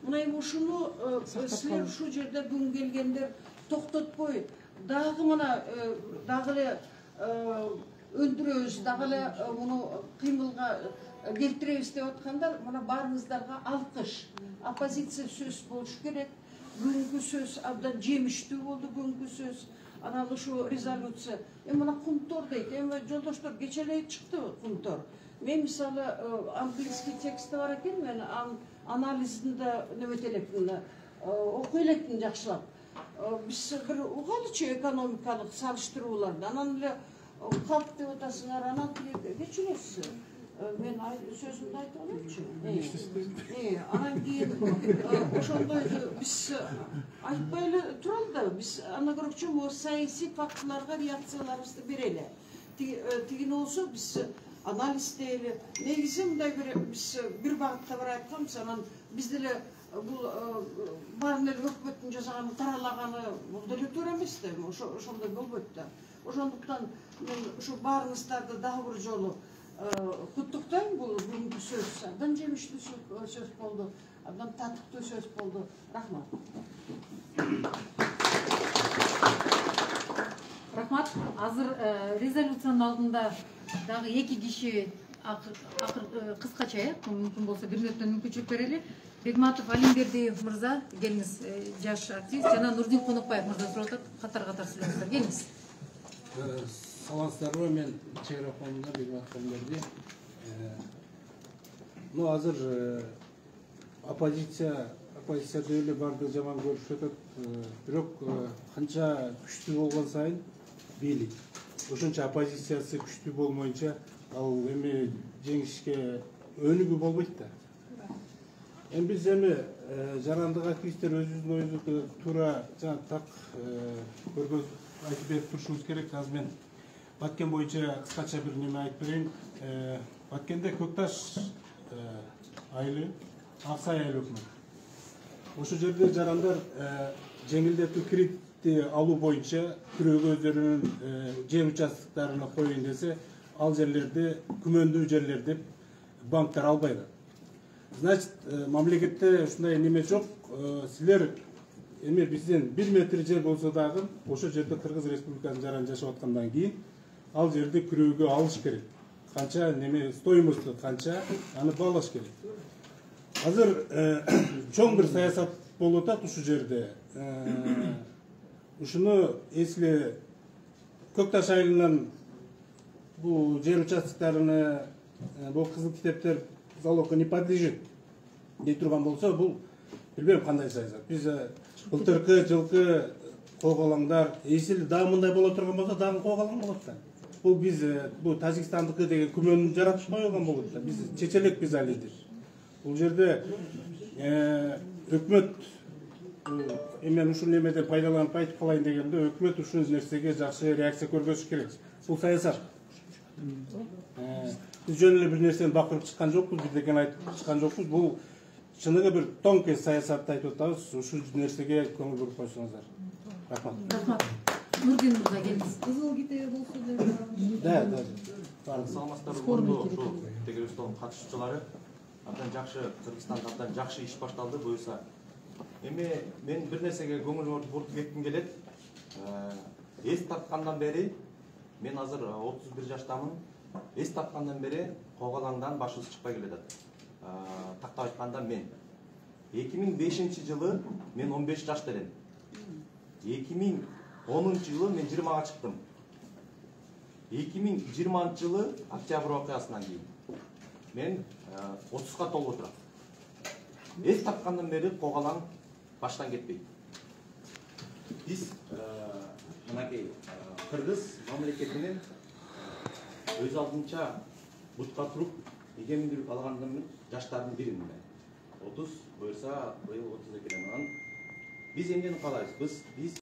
Мына эми ушуну силер ушул жерде бүгүн келгендер токтотпой, дагы мына дагы эле өндүрөбүз, дагы эле муну кыймылга келтиребиз деп аткандар, мына баарыңыздарга алкыш. Оппозиция сөз болуш керек. Бүгүнкү сөз абдан жемиштүү болду, бүгүнкү сөз. Анан ушу резолюция. Мына кумтор дейт. Жолдоштор кече эле чыкты кумтор. Мен мисалы английский тексти бар экен, мен анализин да неметелепмин, окуй элекмин жакшылап. биз бир угалычы экономикалык салыштырууларды, анан эле калк деп атасыңар, анан кечиресиз. Мен сөзүмдү айтып алайынчы. Анан кийин ошондой биз айтпай эле туралы да, биз аны көрөкчү могу саясий фактыларга реакцияларыбызды берели. Тигини болсо биз анализ дейли. Негизи мындай биз бир багытта бар айтканбыз, анан биз деле бул баарын эле өкмөттүн жасаганы, таралаганы бул деле туура эмес да, ошондой болбойт да. Ошондуктан мен ушу баарыңыздарды дагы бир жолу куттуктайм. Бул бүгүнкү сөз абдан жемиштүү сөз болду, абдан татыктуу сөз болду. Рахмат. Рахмат. Азыр резолюциянын алдында дагы 2 киши кыскача, мүмкүн болсо 1 мүнөттөн мүмкүнчүлүк берели. Бегматов Алимбердиев мырза, келиңиз, жаш активист, жана Нурдин Конокбаев мырза сурап атат, катар сүйлөңүздөр, келиңиз. Саламатсыздарбы, мен чегара фондунда Бегматов Алимберди. Азыр оппозиция деле барды жаман көрүшүп атат, бирок канча күчтүү болгон сайын бийлик ошончо оппозициясы күчтүү болмоюнча ал эми жеңишке өнүгүү болбойт да. Эми биз жарандык активисттер өзүбүздүн оюбузду туура жана так көргөз айтып берип турушубуз керек. Азыр мен Баткен боюнча кыскача бир неме айтып берейин. Баткенде Көкташ айылы, Аксай айыл өкмөт. Ошол жерде жарандар жеңилдетүү кредитти алуу боюнча күрөөгө өздөрүнүн жер участоктарына коюн десе, ал жерлерди күмөндүү жерлер деп банктар албайт. Значит, мамлекетте ушундай неме жок. Силер эми бизден 1 метр жер болсо дагы ошол жерде Кыргыз Республикасынын жаран жашап аткандан кийин ал жерди күрөөгө алыш керек. Канча неме стоимостту канча, аны баалаш керек. Азыр чоң бир саясат болуп атат ушул жерде. Ушуну эсиле Көкташ айылынан бул жер участоктарына бул кызыл китептер залогко не подлежит дей турган болсо, бул билбейм кандай саясат. Биз былтыркы жылкы коогалаңдар эсили дагы мындай боло турган болсо, дагы коогалаң болот да. Бул биз бул Тажикстандыкы деген күмөн жаратып койгон болот да. Биз чечелек биз алидир. Бул жерде өкмөт мен ушул немеден пайдаланып айтып калайын дегенде, өкмөт ушул нерсеге жакшы реакция көргөзүш керек. Бул саясат. Биз жөн эле бир нерсени бакырып чыккан жокпуз, бирдекени айтып чыккан жокпуз. Бул чыныгы бир тонкий саясатты айтып атабыз. Ушул нерсеге көңүл буруп койсоңуздар. Рахмат. Рахмат. Нурдин мырза, келиңиз. Кызыл китеби болсо деп. Да. Саламатсыздарбы, урматтуу ушул тегерестон катышуучулары. Абдан жакшы, Кыргызстанда абдан жакшы иш башталды буюрса. Эми мен бир нерсеге көңүл бурутуп кетким келет. Эс тапкандан бери, мен азыр 31 жаштамын. Эс тапкандан бери коогалаңдан башыбыз чыкпай келатат. Тактап айтканда мен 2005-жылы мен 15 жашта элем. 2010-жылы мен 20-га чыктым. 2020-жылы октябрь окуясынан кийин мен 30-га толуп отурам. Эс тапкандан бери коогалаң баштан кетпейт. Биз мынакей Кыргыз мамлекетинин өз алдынча бутка туруп эгеминдүүлүк алгандын жаштардын биримин. 30 буюрса быйыл 32 анан биз эмнени каалайбыз? Биз